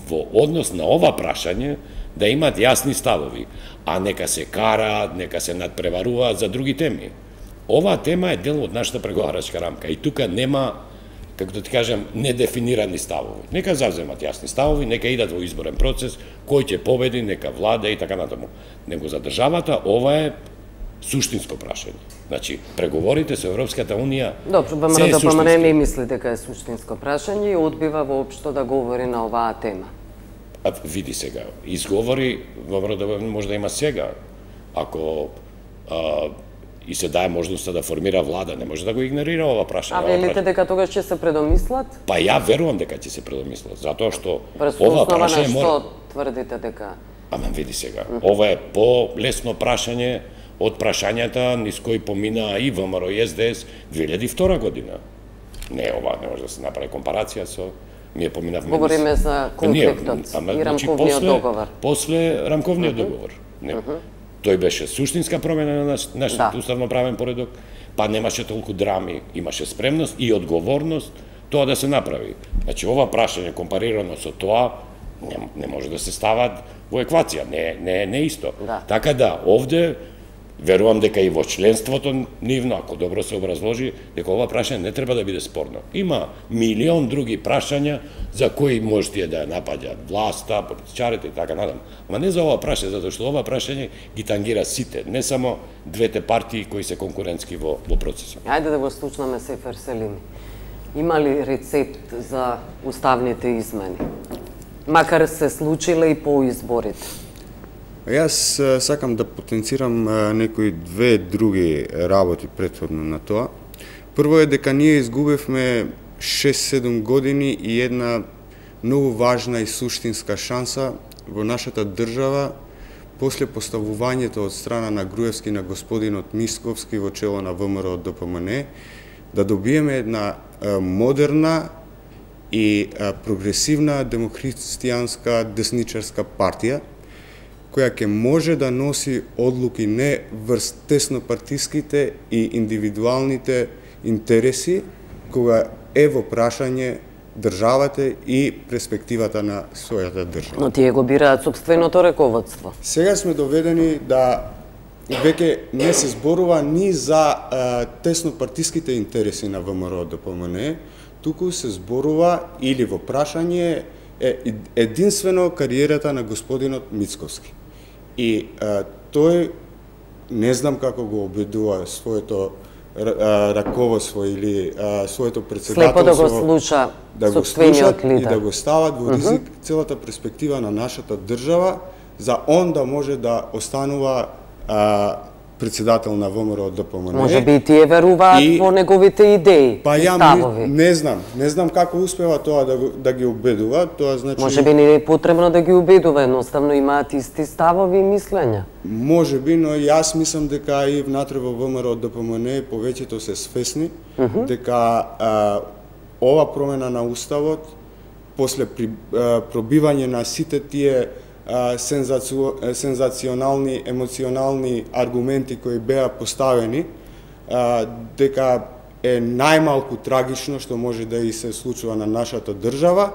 Speaker 2: во однос на ова прашање да имаат јасни ставови, а нека се караат, нека се надпреваруваат за други теми. Оваа тема е дел од нашата преговарачка рамка и тука нема, како да ти кажам, недефинирани ставови. Нека завземат јасни ставови, нека идат во изборен процес, кој ќе победи, нека влада и така натаму. Него за државата ова е суштинско прашање. Значи, преговорите со Европската Унија
Speaker 1: Добро, ВМРО не мисли дека е суштинско прашање и одбива воопшто да говори на оваа тема.
Speaker 2: Види сега, изговори ВМРО може да има сега. Ако и се дае можноста да формира влада, не може да го игнорира ова прашање.
Speaker 1: А велите дека тогаш ќе се предомислат?
Speaker 2: Па ја верувам дека ќе се предомислат, затоа што
Speaker 1: ова прашање што тврдите дека?
Speaker 2: Ама види сега, ова е по-лесно прашање од прашањата низ кои помина и ВМРО и СДС 2002 година. Не, ова не може да се направи компарација со ние поминавме.
Speaker 1: Говориме за конфликтот и рамковниот договор.
Speaker 2: После рамковниот договор. Не. Тој беше суштинска промена на нашиот уставноправен поредок, па немаше толку драми, имаше спремност и одговорност тоа да се направи. Значи, ова прашање компарирано со тоа не може да се стават во еквација, не е исто. Така да, овде верувам дека и во членството нивно, ако добро се образложи, дека ова прашање не треба да биде спорно. Има милион други прашања за кои може тие да ја напаѓаат власта, политичарите и така надам. Ама не за ова прашање, затоа што ова прашање ги тангира сите, не само двете партии кои се конкурентски во процесот.
Speaker 1: Ајде да го слушнаме Сефер Селими. Има ли рецепт за уставните измени? Макар се случиле и по изборите.
Speaker 4: Јас сакам да потенцирам некои две други работи претходно на тоа. Прво е дека ние изгубевме 6-7 години и една многу важна и суштинска шанса во нашата држава после поставувањето од страна на Груевски на господинот Мисковски во чело на ВМРО ДПМН да добиеме една модерна и прогресивна демокристијанска десничарска партија која ќе може да носи одлуки не врз теснопартиските и индивидуалните интереси, кога е во прашање државата и перспективата на својата држава.
Speaker 1: Но тие го бираат сопственото раководство.
Speaker 4: Сега сме доведени да веќе не се зборува ни за теснопартиските интереси на ВМРО ДПМН, туку се зборува или во прашање единствено кариерата на господинот Мицковски. И тој, не знам како го обидува своето раководство или своето председателство,
Speaker 1: слепо да го слуша сопствениот лидер
Speaker 4: и да го стават во ризик целата перспектива на нашата држава, за он да може да останува председател на ВМРО ДПМН.
Speaker 1: Може би и тие веруваат во неговите идеи и ставови.
Speaker 4: Не знам како успева тоа да ги убедува, тоа значи...
Speaker 1: Може би не е потребно да ги убедува, едноставно имаат исти ставови и мислења.
Speaker 4: Може би, но јас мислам дека и внатре во ВМРО ДПМН повеќето се свесни дека ова промена на уставот после пробивање на сите тие сензационални, емоционални аргументи кои беа поставени, дека е најмалку трагично што може да и се случува на нашата држава,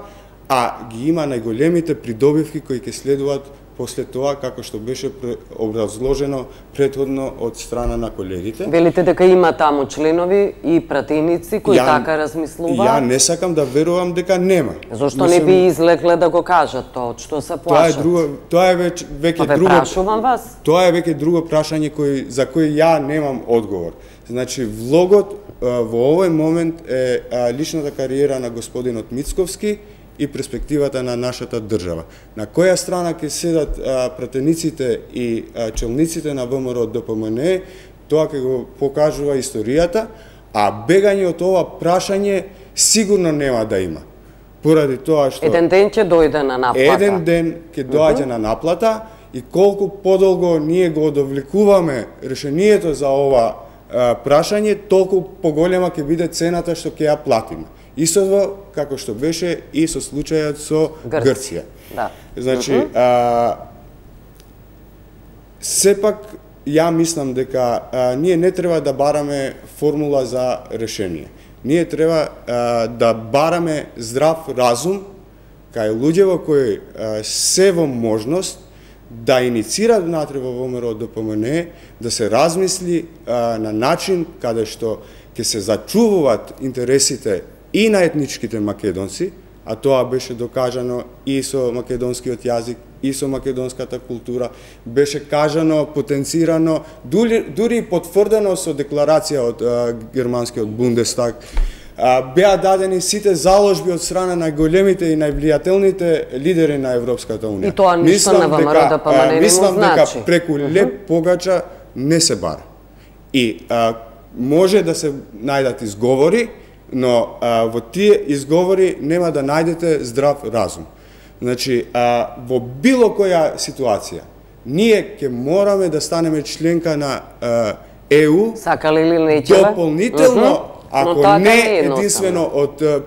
Speaker 4: а ги има најголемите придобивки кои ќе следуваат после тоа, како што беше образложено претходно од страна на колегите.
Speaker 1: Велите дека има таму членови и пратеници кои така размислуваат?
Speaker 4: Ја не сакам да верувам дека нема.
Speaker 1: Зошто не би излекле да го кажат тоа, од што се плашат?
Speaker 4: Тоа е веќе друго.
Speaker 1: Прашувам вас.
Speaker 4: Тоа е веќе друго прашање за кој ја немам одговор. Значи, влогот во овој момент е личната кариера на господинот Мицковски и перспективата на нашата држава. На која страна ќе седат пратениците и челниците на ВМРО ДПМН, тоа ќе го покажува историјата, а бегање од ова прашање сигурно нема да има. Поради тоа што...
Speaker 1: Еден ден ќе дојде на наплата.
Speaker 4: Еден ден ќе доаѓа на наплата и колку подолго ние го одовлекуваме решението за ова прашање, толку поголема ќе биде цената што ќе ја платиме. Исто како што беше и со случајот со Грција.
Speaker 1: Да.
Speaker 4: Значи, сепак ја мислам дека ние не треба да бараме формула за решение. Ние треба да бараме здрав разум кај луѓето кои се во можност да иницираат внатре во ВМРО ДПМН, да се размисли на начин каде што ќе се зачувуваат интересите и на етничките македонци, а тоа беше докажано и со македонскиот јазик, и со македонската култура, беше кажано, потенцирано, дури потврдено со декларација од германскиот Бундестаг. Беа дадени сите заложби од страна на големите и највлијателните лидери на Европската унија.
Speaker 1: И тоа ништо на ВМРО ДПМН не му значи.
Speaker 4: Мислам дека преку леп погача не се бара. И може да се најдат изговори, но во тие изговори нема да најдете здрав разум. Значи, во било која ситуација, ние ќе мораме да станеме членка на ЕУ,
Speaker 1: сакале или нечеве,
Speaker 4: дополнително, ако не единствено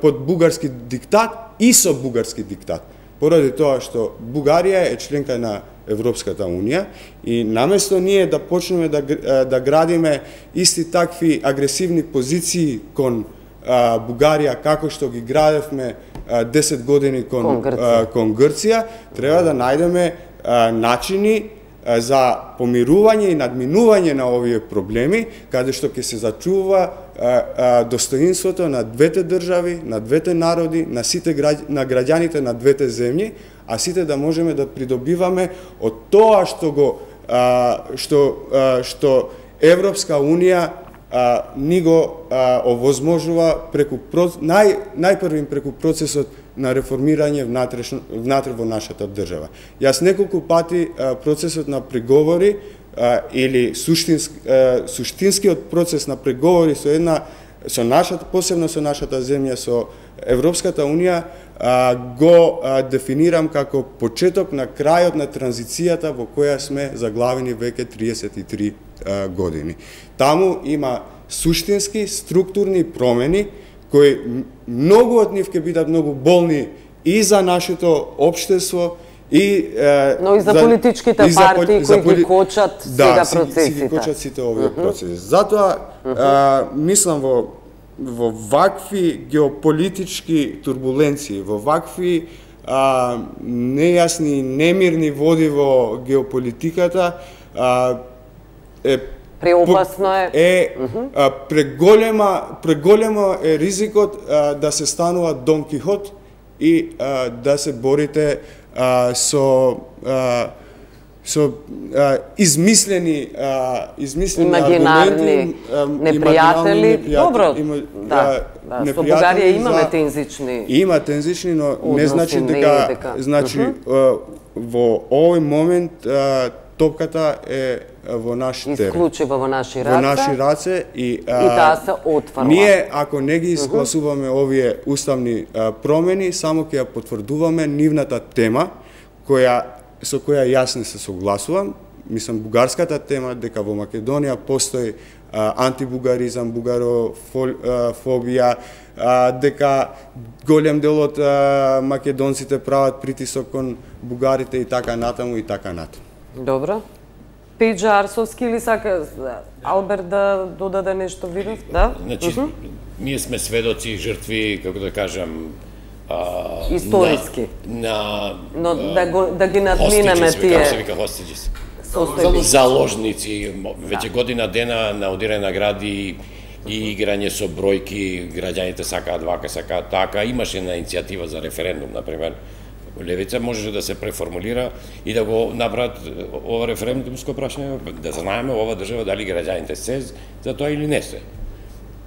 Speaker 4: под бугарски диктат и со бугарски диктат. Поради тоа што Бугарија е членка на Европската унија и наместо ние да почнеме да градиме исти такви агресивни позиции кон Бугарија, како што ги градевме 10 години кон Грција, треба да најдеме начини за помирување и надминување на овие проблеми, каде што ќе се зачува достоинството на двете држави, на двете народи, на граѓаните на двете земји, а сите да можеме да придобиваме од тоа што Европска унија ни го овозможува најпрвим преку процесот на реформирање внатре во нашата држава. Јас неколку пати процесот на преговори или суштинскиот процес на преговори со нашата, посебно со нашата земја, со Европската унија, го дефинирам како почеток на крајот на транзицијата во која сме заглавени веќе 33 години. Таму има суштински, структурни промени, кои многу од нив ќе бидат многу болни и за нашето општество,
Speaker 1: но и за политичките партии кои ги кочат сега процесите.
Speaker 4: Да, ги кочат сите овие процеси. Затоа мислам во вакви геополитички турбуленции, во вакви нејасни, немирни води во геополитиката,
Speaker 1: преопасно
Speaker 4: е преголемо е ризикот да се станува Дон Кихот и да се борите со измислени
Speaker 1: имагинарни непријатели. Добро, да, со Бугарија имаме тензични.
Speaker 4: Има тензични, но не значи дека во овој момент топката е во наш терен.
Speaker 1: Исклучиво во наши раце.
Speaker 4: Во наши раце и
Speaker 1: таа се отфрла.
Speaker 4: Ние ако не ги изгласуваме овие уставни промени, само ќе ја потврдуваме нивната тема со која јас не се согласувам. Мислам, бугарската тема дека во Македонија постои антибугаризам, бугарофобија, дека голем дел од македонците прават притисок кон бугарите и така натаму и така натаму.
Speaker 1: Добро. Пејџа Арсовски или сака Алберт да додаде нешто, видов? Да?
Speaker 2: Значи, ние сме сведоци, жртви, како да кажам,
Speaker 1: историски. Но да ги надминеме тие.
Speaker 2: Како се вика хостиџис? Заложници, веќе година дена на одирање награди и играње со бројки, граѓаните сакаат вака, сакаат така. Имаше една иницијатива за референдум, например. Левица можеше да се преформулира и да го направат ова референдумско прашање, да знаеме ова држава дали граѓаните се за тоа или не се.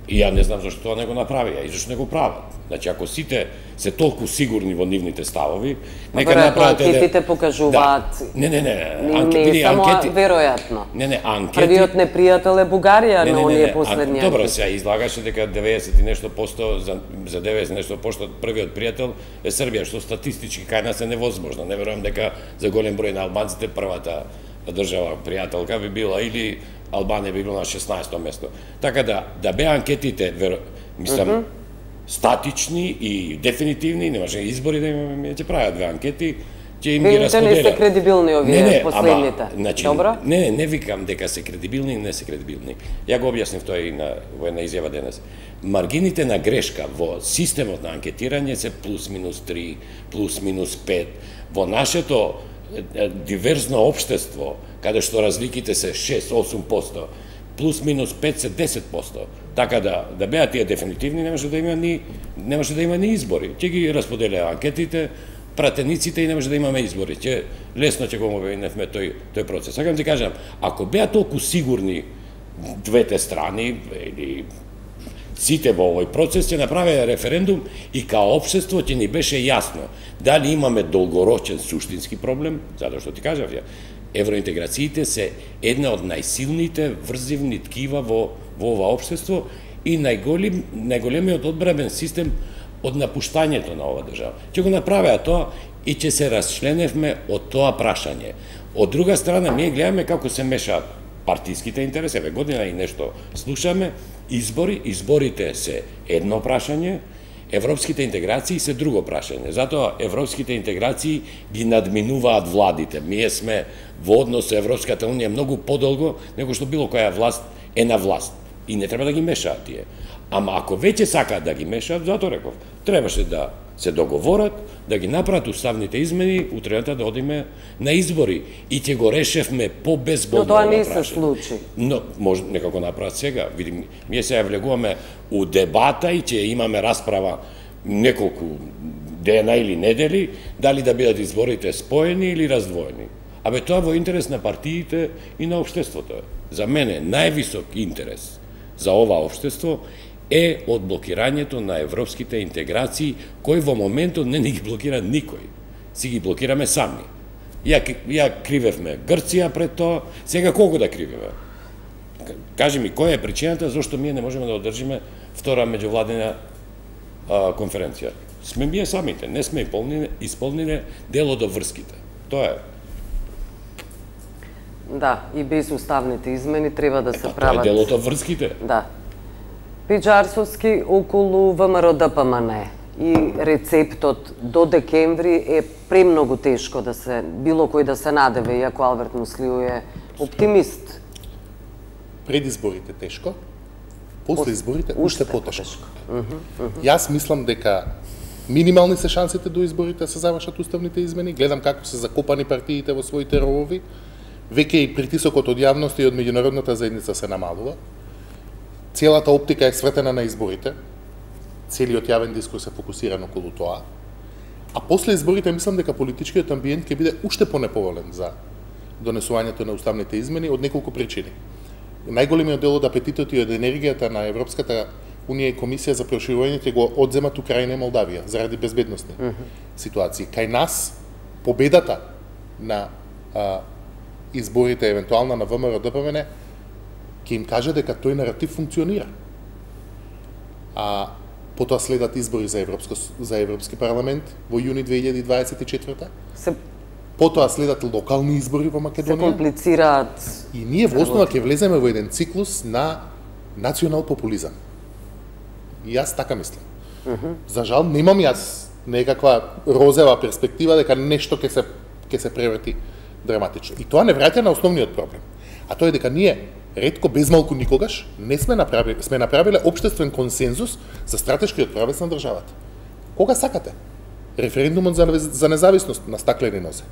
Speaker 2: И ја не знам зашто тоа не го направија и зашто не го прават. Значи, ако сите се толку сигурни во нивните ставови, нека направат...
Speaker 1: Анкетите покажуваат...
Speaker 2: Не,
Speaker 1: само веројатно.
Speaker 2: Анкети...
Speaker 1: Првиот непријател е Бугарија на оние последни анкети.
Speaker 2: Добро, сега излагаше дека 90 и нешто посто, за 90 нешто посто првиот пријател е Србија, што статистички кај нас е невозможно. Не верувам дека за голем број на албанците првата држава пријателка би била или Албанија би била на 16-то место. Така да беа анкетите, мислам, статични и дефинитивни, немаше избори да имаме, ќе прават две анкети, ќе им ги расподелат.
Speaker 1: Не се кредибилни овие последните.
Speaker 2: Добро? Не викам дека се кредибилни, не се кредибилни. Ја го објаснив тоа и во една изјава денес. Маргините на грешка во системот на анкетирање се плюс минус 3, плюс минус 5. Во нашето диверзно општество, каде што разликите се 6-8%, плюс минус 5 се 10%. Така да беа тие дефинитивни, немаше да има ни избори. Ќе ги расподелеа анкетите, пратениците и немаше да имаме избори. Лесно ќе го обвиневме тој процес. Сакам ти кажам, ако беа толку сигурни двете страни или сите во овој процес, ќе направеа референдум и као општество ќе ни беше јасно дали имаме долгорочен суштински проблем, затоа што ти кажав ја, евроинтеграциите се една од најсилните врзивни ткива во ова општество и најголемиот одбранбен систем од напуштањето на ова држава. Ќе го направеа тоа и ќе се расчленевме од тоа прашање. Од друга страна, ние гледаме како се мешаат партиските интереси, година и нешто слушаме, изборите се едно прашање, европските интеграции се друго прашање. Затоа европските интеграции ги надминуваат владите. Ние сме во однос со Европската унија многу подолго него што било која власт е на власт. И не треба да ги мешаат тие. Ама ако веќе сакаат да ги мешаат, затоа реков, требаше да се договорат, да ги направат уставните измени, утрената да одиме на избори и ќе го решевме по-безболно.
Speaker 1: Но тоа не се случи.
Speaker 2: Но може нека го направат сега. Видим, ние се влегуваме у дебата и ќе имаме расправа неколку дена или недели, дали да бидат изборите споени или раздвоени. Абе тоа во интерес на партиите и на општеството. За мене највисок интерес за ова општество е од блокирањето на европските интеграции, кои во моментот не ги блокира никој. Си ги блокираме сами. Ја кривевме Грција пред тоа, сега колку да кривеме? Кажи ми, која е причината зашто ние не можеме да одржиме втора меѓувладина конференција? Сме ние самите, не сме исполниле дел од врските. Тоа е.
Speaker 1: Да, и без уставните измени треба да се прават.
Speaker 2: Тоа е дел од врските.
Speaker 1: Да. Пејџа Арсовски околу ВМРО-ДПМН и рецептот до декември е премногу тешко да се било кој да се надеве, иако Алберт Муслиу е оптимист.
Speaker 3: Пред изборите тешко, после изборите уште потешко. Јас мислам дека минимални се шансите до изборите се завршат уставните измени, гледам како се закопани партиите во своите ровови, веќе и притисокот од јавноста и од меѓународната заедница се намалува. Целата оптика е свртена на изборите, целиот јавен дискурс е фокусиран околу тоа, а после изборите мислам дека политичкиот амбиент ќе биде уште понеповолен за донесувањето на уставните измени од неколку причини. Најголемиот дел од апетитот и од енергијата на Европската Унија и Комисија за проширување ќе го одземат Украина и Молдавија заради безбедносни ситуации. Кај нас победата на изборите евентуално на ВМРО ДПМН, ќе им каже дека тој наратив функционира. Потоа следат избори за Европски парламент во јуни 2024. Потоа следат локални избори во Македонија.
Speaker 1: Се комплицираат.
Speaker 3: И ние во основа ќе влеземе во еден циклус на национал популизам. И јас така мислам. За жал немам јас некаква розева перспектива дека нешто ќе се преврати драматично. И тоа не враќа на основниот проблем. А тоа е дека ние ретко безмалку никогаш не сме направиле општествен консензус за стратешкиот правец на државата. Кога сакате? Референдумот за независност на стаклени нозе.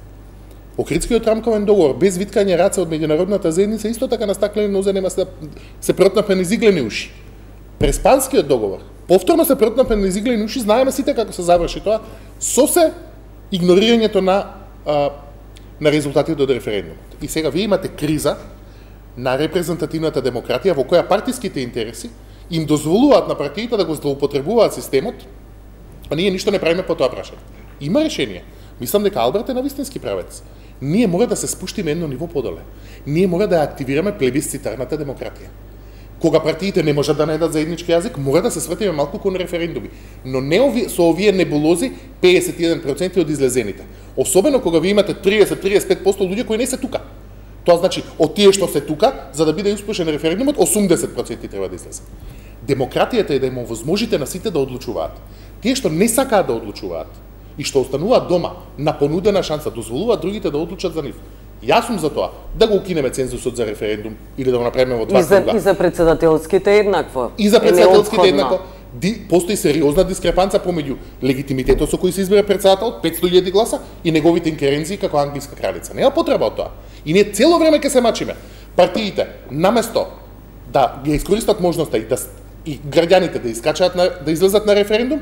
Speaker 3: Охридскиот рамковен договор без виткање раце од меѓународната заедница исто така на стаклени нозе нема се протнапени зиглени уши. Преспанскиот договор повторно се протнапени зиглени уши, знаеме сите како се заврши тоа, со се игнорирањето на резултатите од референдумот. И сега вие имате криза на репрезентативната демократија во која партиските интереси им дозволуваат на партиите да го злоупотребуваат системот, а ние ништо не правиме по тоа прашање. Има решение. Мислам дека Алберт е на вистински правец. Ние мора да се спуштиме едно ниво подоле. Ние мора да активираме плебисцитарната демократија. Кога партиите не можат да најдат заеднички јазик, мора да се свртиме малку кон референдуми. Но не со овие небулози 51% од излезените. Особено кога ви имате 30-35% луѓе кои не се тука. Тоа значи, од тие што се тука, за да биде успешен референдумот, 80% треба да излезат. Демократијата е да им овозможите на сите да одлучуваат. Тие што не сакаат да одлучуваат и што остануваат дома на понудена шанса, дозволуваат другите да одлучат за нив. Јас сум за тоа да го укинеме цензусот за референдум или да го направиме во два круга.
Speaker 1: И за председателските еднакво.
Speaker 3: И за председателските еднакво. Постои сериозна дискрепанца помеѓу легитимитетот со кој се избира председател, 500.000 гласа, и неговите инкеренции како англиска кралица. Нема потреба од тоа. И ние цело време ќе се мачиме. Партиите, наместо да ги искористат можноста и граѓаните да искачаат да излезат на референдум,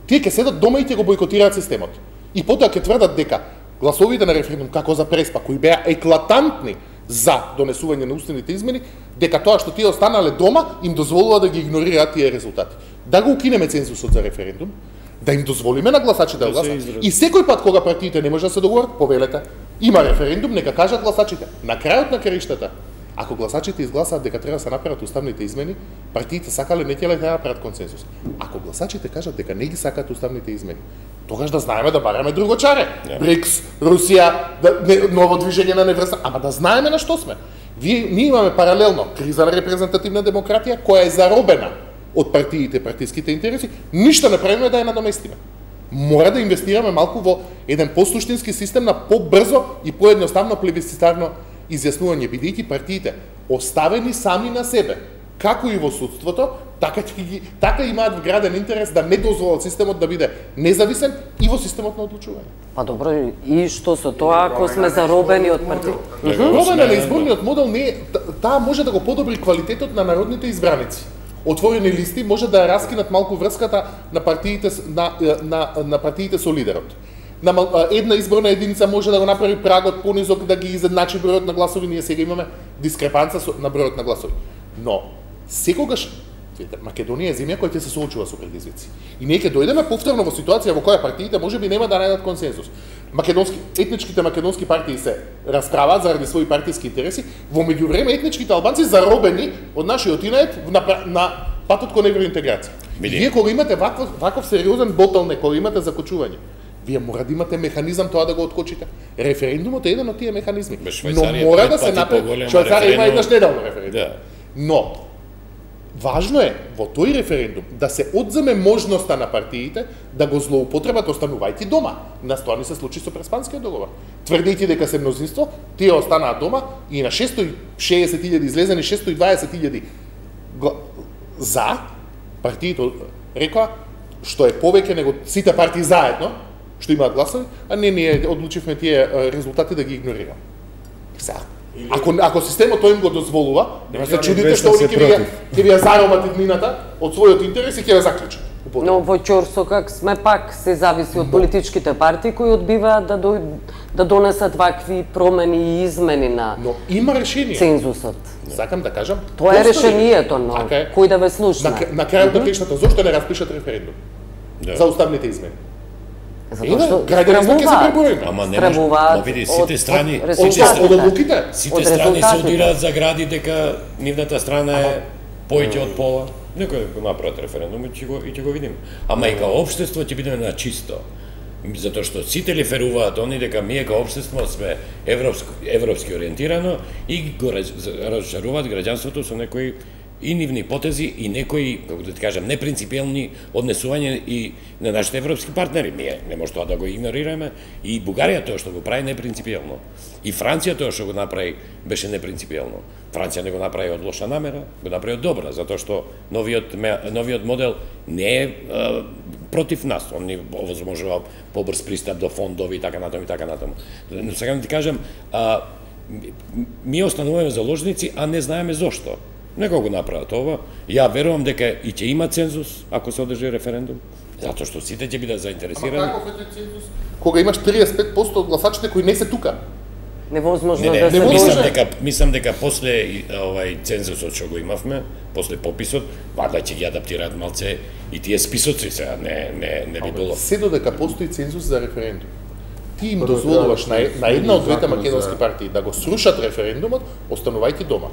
Speaker 3: тие ќе седат дома и ќе го бойкотираат системот. И потоа ќе тврдат дека гласовите на референдум како за Преспа, кои беа еклатантни за донесување на уставните измени, дека тоа што тие останале дома им дозволува да ги игнорираат тие резултати. Да го укинеме цензусот за референдум, да им дозволиме на гласачите да гласат. И секој пат кога партиите не може да се договорат, повелете, има референдум, нека кажат гласачите. На крајот на краиштата, ако гласачите изгласаат дека треба да се направат уставните измени, партиите сакале не ќе да направат консенсус. Ако гласачите кажат дека не ги сакаат уставните измени, тогаш да знаеме да бараме друго чаре. БРИКС, Русија, ново движење на неврста, ама да знаеме на што сме. Ние имаме паралелно криза на репрезентативна демократија која е заробена од партиите, партиските интереси, ништо не правиме да ја надоместиме. Мора да инвестираме малку во еден посуштински систем на побрзо и поедноставно плебисцитарно изјаснување, бидејќи партиите оставени сами на себе, како и во судството, така имаат вграден интерес да не дозволат системот да биде независен и во системот на одлучување.
Speaker 1: Па добро, и што со тоа ако сме заробени од партиите?
Speaker 3: Робена на изборниот модел таа може да го подобри квалитетот на народните избраници. Отворени листи може да раскинат малку врската на партиите на партиите со лидерот. Една изборна единица може да го направи прагот понизок, да ги изедначи бројот на гласови. Ние сега имаме дискрепанца на бројот на гласови. Но секогаш Македонија е земја која ќе се соочува со предизвици. И ние ќе дојдеме повторно во ситуација во која партиите можеби нема да најдат консензус. Етничките македонски партии се расправаат заради своји партиски интереси, во меѓувреме етничките албанци заробени од нашиот инет на патот кон евроинтеграција. Вие кога имате ваков сериозен ботълнек, кога имате закочување, вие мора да имате механизам тоа да го откочите. Референдумот е еден од тие механизми. Но мора да се направи. Швајцарија има еднаш неделно референдум. Но важно е во тој референдум да се одземе можноста на партиите да го злоупотребат останувајќи дома. На тоа не се случи со Преспанскиот договор. Тврдејќи дека се мнозинство, тие останаа дома и на 660.000 излезени 620.000 за партиите рекоа што е повеќе него сите партии заедно што имаат гласови, а ние одлучивме тие резултати да ги игнорираме. Сега, ако системот тој им го дозволува, нема се чудите што они ќе ви ја заробат иднината од својот интерес и ќе ја заклучат.
Speaker 1: Но во ќорсокак сме пак се зависи од политичките партии кои одбиваат да донесат вакви промени и измени на цензусот.
Speaker 3: Сакам да кажам,
Speaker 1: тоа е решението, но кој да ве слушна.
Speaker 3: На крајот на краиштата, зошто не распишат референдум за уставните измени?
Speaker 1: Затоа што
Speaker 3: граѓанство ќе се преброи.
Speaker 2: Ама не може, ма види, сите страни
Speaker 3: од одлуките.
Speaker 2: Сите страни се одираат за гради дека нивната страна е поеќе од пола. Некој го направат референдум и ќе го видиме. Ама и као општество ќе бидеме на чисто. Затоа што сите лиферуваат они дека ние као општество сме европски ориентирано и го разочаруваат граѓанството со некои и нивни потези и некои, како да ти кажам, непринципиелни однесувања и на нашите европски партнери. Ние не може тоа да го игнорираме. И Бугарија тоа што го прави непринципиелно. И Франција тоа што го направи беше непринципиелно. Франција не го направи од лоша намера, го направи од добра, затоа што новиот модел не е против нас. Он ни овозможува побрз пристап до фондови и така натаму и така натаму. Но сега да ти кажам, ние остануваме заложници, а не знаеме зошто. Нека го направат ова. Ја верувам дека и ќе има цензус ако се одржи референдум, затоа што сите ќе бидат заинтересирани.
Speaker 3: Ама каков е тој цензус? Кога имаш 35% од гласачите кои не се тука.
Speaker 1: Невозможно да се
Speaker 2: мислам дека после цензусот што го имавме, после пописот, варда ќе ги адаптираат малце и тие списоци сега не би било.
Speaker 3: Се додека постои цензус за референдум. Ти им дозволуваш на една од двете македонски партии да го срушат референдумот, останувајќи дома.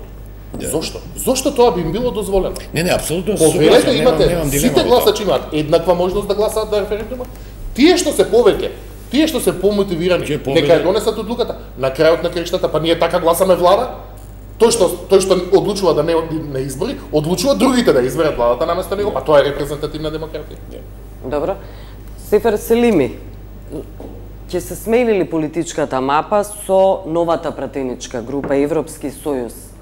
Speaker 3: Зошто? Зошто тоа би им било дозволено?
Speaker 2: Не, апсолутно
Speaker 3: согласен, имате сите гласачи имаат еднаква можност да гласаат за референдумот. Тие што се повеќе, тие што се помотивирани, нека ја донесат одлуката. На крајот на краиштата, па ние така гласаме влада. Тој што одлучува да не избори, одлучува другите да изберат владата наместо него, па тоа е репрезентативна демократија.
Speaker 1: Добро. Сефер Селими, ќе се смени ли политичката мапа со новата пратеничка група Европски сојуз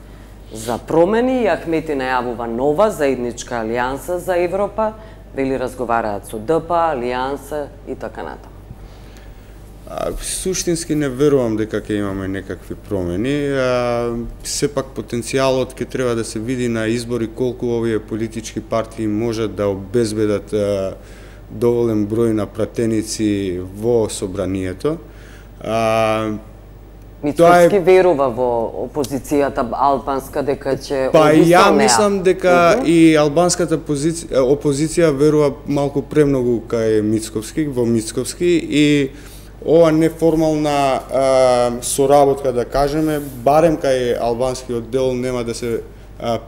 Speaker 1: за промени и Ахмети најавува нова заедничка алијанса за Европа, вели разговараат со ДП, алијанса и така натаму.
Speaker 4: Суштински не верувам дека ќе имаме некакви промени. Сепак потенцијалот ќе треба да се види на избори колку овие политички партии можат да обезбедат доволен број на пратеници во собранието.
Speaker 1: Мицкоски верува во опозицијата албанска дека ќе
Speaker 4: Па ја мислам дека и албанската опозиција верува малку премногу кај Мицковски, во Мицковски и ова неформална соработка, да кажеме, барем кај албанскиот дел нема да се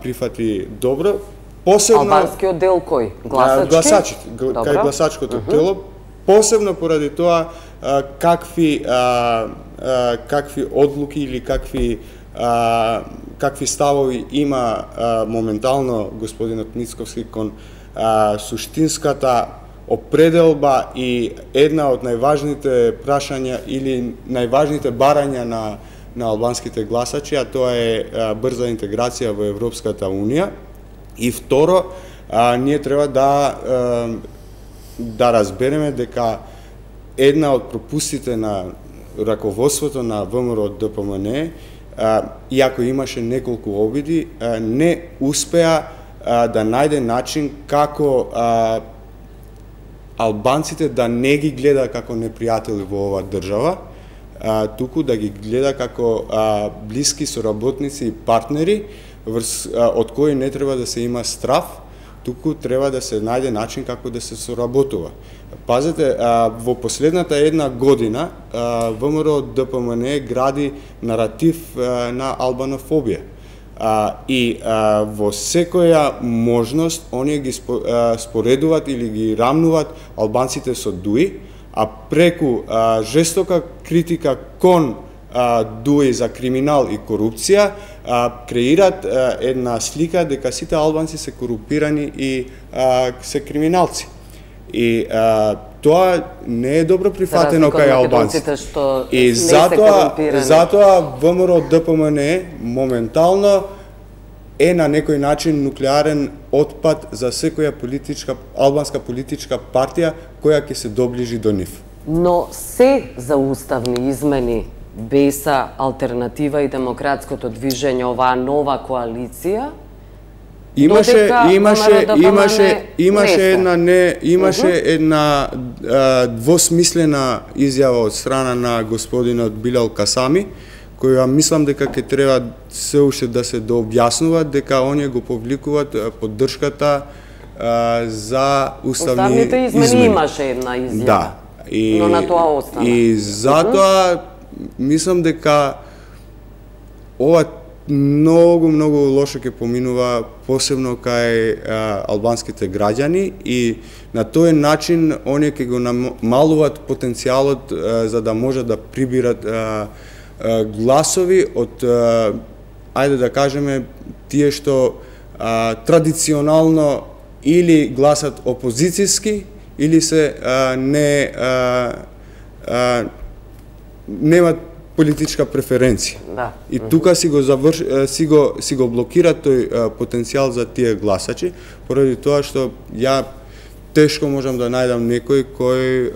Speaker 4: прифати добро. Посебно
Speaker 1: албанскиот дел кој?
Speaker 4: Гласачите, кај гласачкото тело, посебно поради тоа какви одлуки или какви ставови има моментално господинот Мицковски кон суштинската определба и една од најважните прашања или најважните барања на албанските гласачи, а тоа е брза интеграција во Европската Унија. И второ, ние треба да разбереме дека една од пропустите на раководството на ВМРО ДПМН, иако имаше неколку обиди, не успеа да најде начин како албанците да не ги гледа како непријатели во оваа држава, туку да ги гледа како блиски соработници и партнери, од кои не треба да се има страф, туку треба да се најде начин како да се соработува. Пазете, во последната една година ВМРО ДПМН гради наратив на албанофобија. И во секоја можност оние ги споредуваат или ги рамнуваат албанците со ДУИ, а преку жестока критика кон ДУИ за криминал и корупција, креират една слика дека сите албанци се корупирани и се криминалци. И тоа не е добро прифатено кај албанците. И затоа ВМРО ДПМН моментално е на некој начин нуклеарен отпад за секоја албанска политичка партија која ќе се доближи до нив.
Speaker 1: Но се за уставни измени БЕСА, Алтернатива и Демократското движење, оваа нова коалиција,
Speaker 4: имаше една двосмислена изјава од страна на господинот Билал Касами, која мислам дека ќе треба се уште да се дообјаснува дека оние го повликуваат поддршката за уставните
Speaker 1: измени. Имаше една изјава.
Speaker 4: Да.
Speaker 1: Но на тоа остана.
Speaker 4: И затоа мислам дека ова многу лошо ќе поминува, посебно кај албанските граѓани, и на тој начин оние ќе го намалуваат потенцијалот за да можат да прибират гласови од, ајде да кажеме, тие што традиционално или гласат опозицијски, или се немат политичка преференција.
Speaker 1: Да.
Speaker 4: И тука си го блокира тој потенцијал за тие гласачи, поради тоа што ја тешко можам да најдам некој кој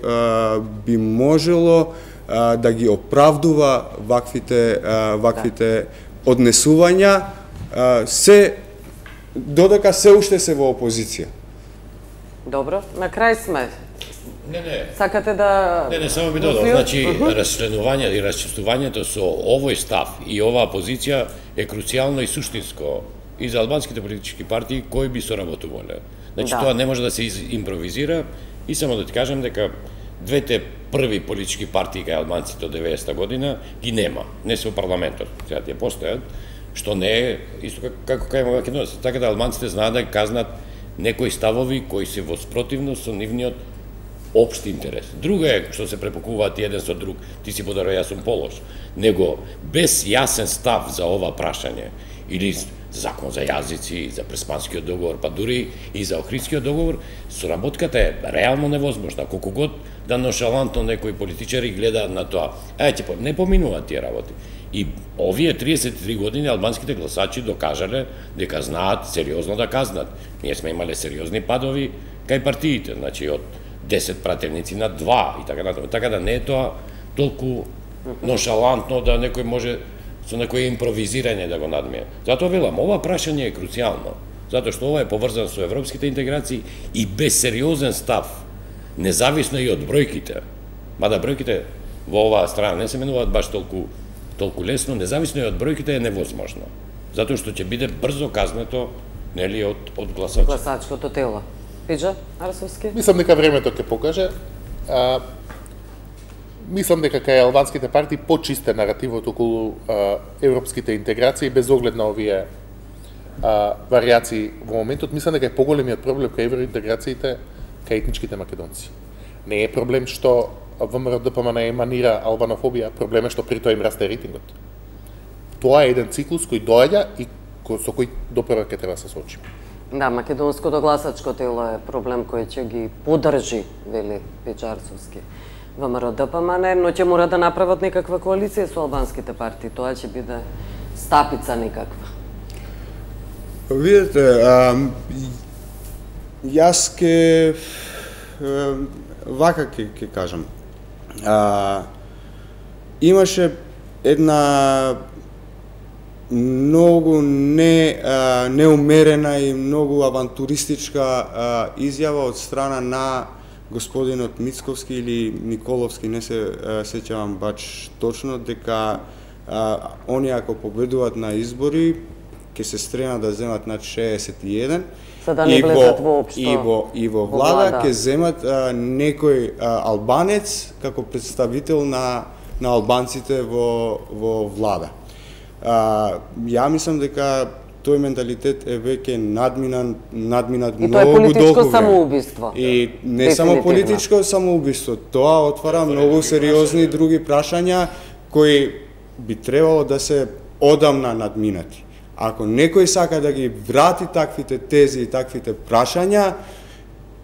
Speaker 4: би можело да ги оправдува ваквите однесувања, додека се уште се во опозиција.
Speaker 1: Добро, на крај сме.
Speaker 2: Не.
Speaker 1: Сакате да...
Speaker 2: Не, само би додал. Значи, расчленување и расчистувањето со овој став и оваа позиција е круцијално и суштинско и за албанските политички партии кои би соработувале. Значи, тоа не може да се импровизира, и само да ти кажам дека двете први политички партии кај албанците од 90-та година ги нема, не се во парламентот, сега тие постојат, што не е исто како кај македонците, така да албанците знаат да казнат некои ставови кои се во спротивност со нивниот општи интерес. Друго е што се препокуваат еден со друг, ти си подарува, јас сум полош, него без јасен став за ова прашање, или закон за јазици, за Преспанскиот договор, па дури и за Охридскиот договор, соработката е реално невозможна. Колку год да ношалантно некои политичари гледаат на тоа, не поминуваат тие работи. И овие 33 години албанските гласачи докажале дека знаат сериозно да казнат. Ние сме имале сериозни падови кај партиите, значи од 10 пратеници на 2 и така натаму. Така да не е тоа толку ношалантно да некој може со некој импровизирање да го надмие. Затоа велам, ова прашање е круцијално, затоа што ова е поврзано со европските интеграции и без сериозен став, независно и од бројките. Мада бројките во оваа страна не се менуваат баш толку лесно, независно и од бројките е невозможно. Затоа што ќе биде брзо казнето, нели, од гласачите.
Speaker 1: Гласачкото тело. Пиџа Арсовски?
Speaker 3: Мислам дека времето ќе покаже. Мислам дека кај албанските партии почисте наративот околу европските интеграции без оглед на овие варијации во моментот. Мислам дека е поголемиот проблем кај евроинтеграциите кај етничките македонци. Не е проблем што ВМРО ДПМН еманира албанофобија, проблем е што при тоа им расте рейтингот. Тоа е еден циклус кој доаѓа и со кој допрва ќе треба да се соочиме.
Speaker 1: Да, македонското гласачко тело е проблем кој ќе ги поддржи, вели Пиџа Арсовски. ВМРО ДПМН, но ќе мора да направат некаква коалиција со албанските партии. Тоа ќе биде стапица некаква.
Speaker 4: Видете, јас ке вака ќе кажам. Имаше една многу неумерена и многу авантуристичка изјава од страна на господинот Мицковски или Николовски, не се сеќавам баш точно, дека они ако победуваат на избори ќе се стренат да земат над 61
Speaker 1: да не влезат воопшто
Speaker 4: и во влада ќе земат некој албанец како представител на албанците во влада. Ја мислам дека тој менталитет е веќе надминат многу долго.
Speaker 1: И тоа е политичко самоубиство.
Speaker 4: И не само политичко самоубиство, тоа отвара многу сериозни други прашања кои би требало да се одамна надминати. Ако некој сака да ги врати таквите тези и таквите прашања,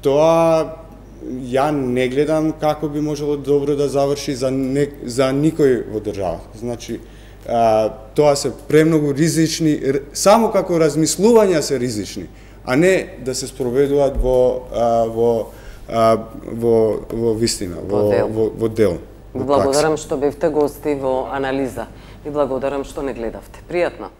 Speaker 4: тоа ја не гледам како би можело добро да заврши за никој во државата. Значи, тоа се премногу ризични, само како размислувања се ризични, а не да се спроведуваат во вистина, во дел.
Speaker 1: Ви благодарам што бевте гости во анализа. Ви благодарам што не гледавте. Пријатно.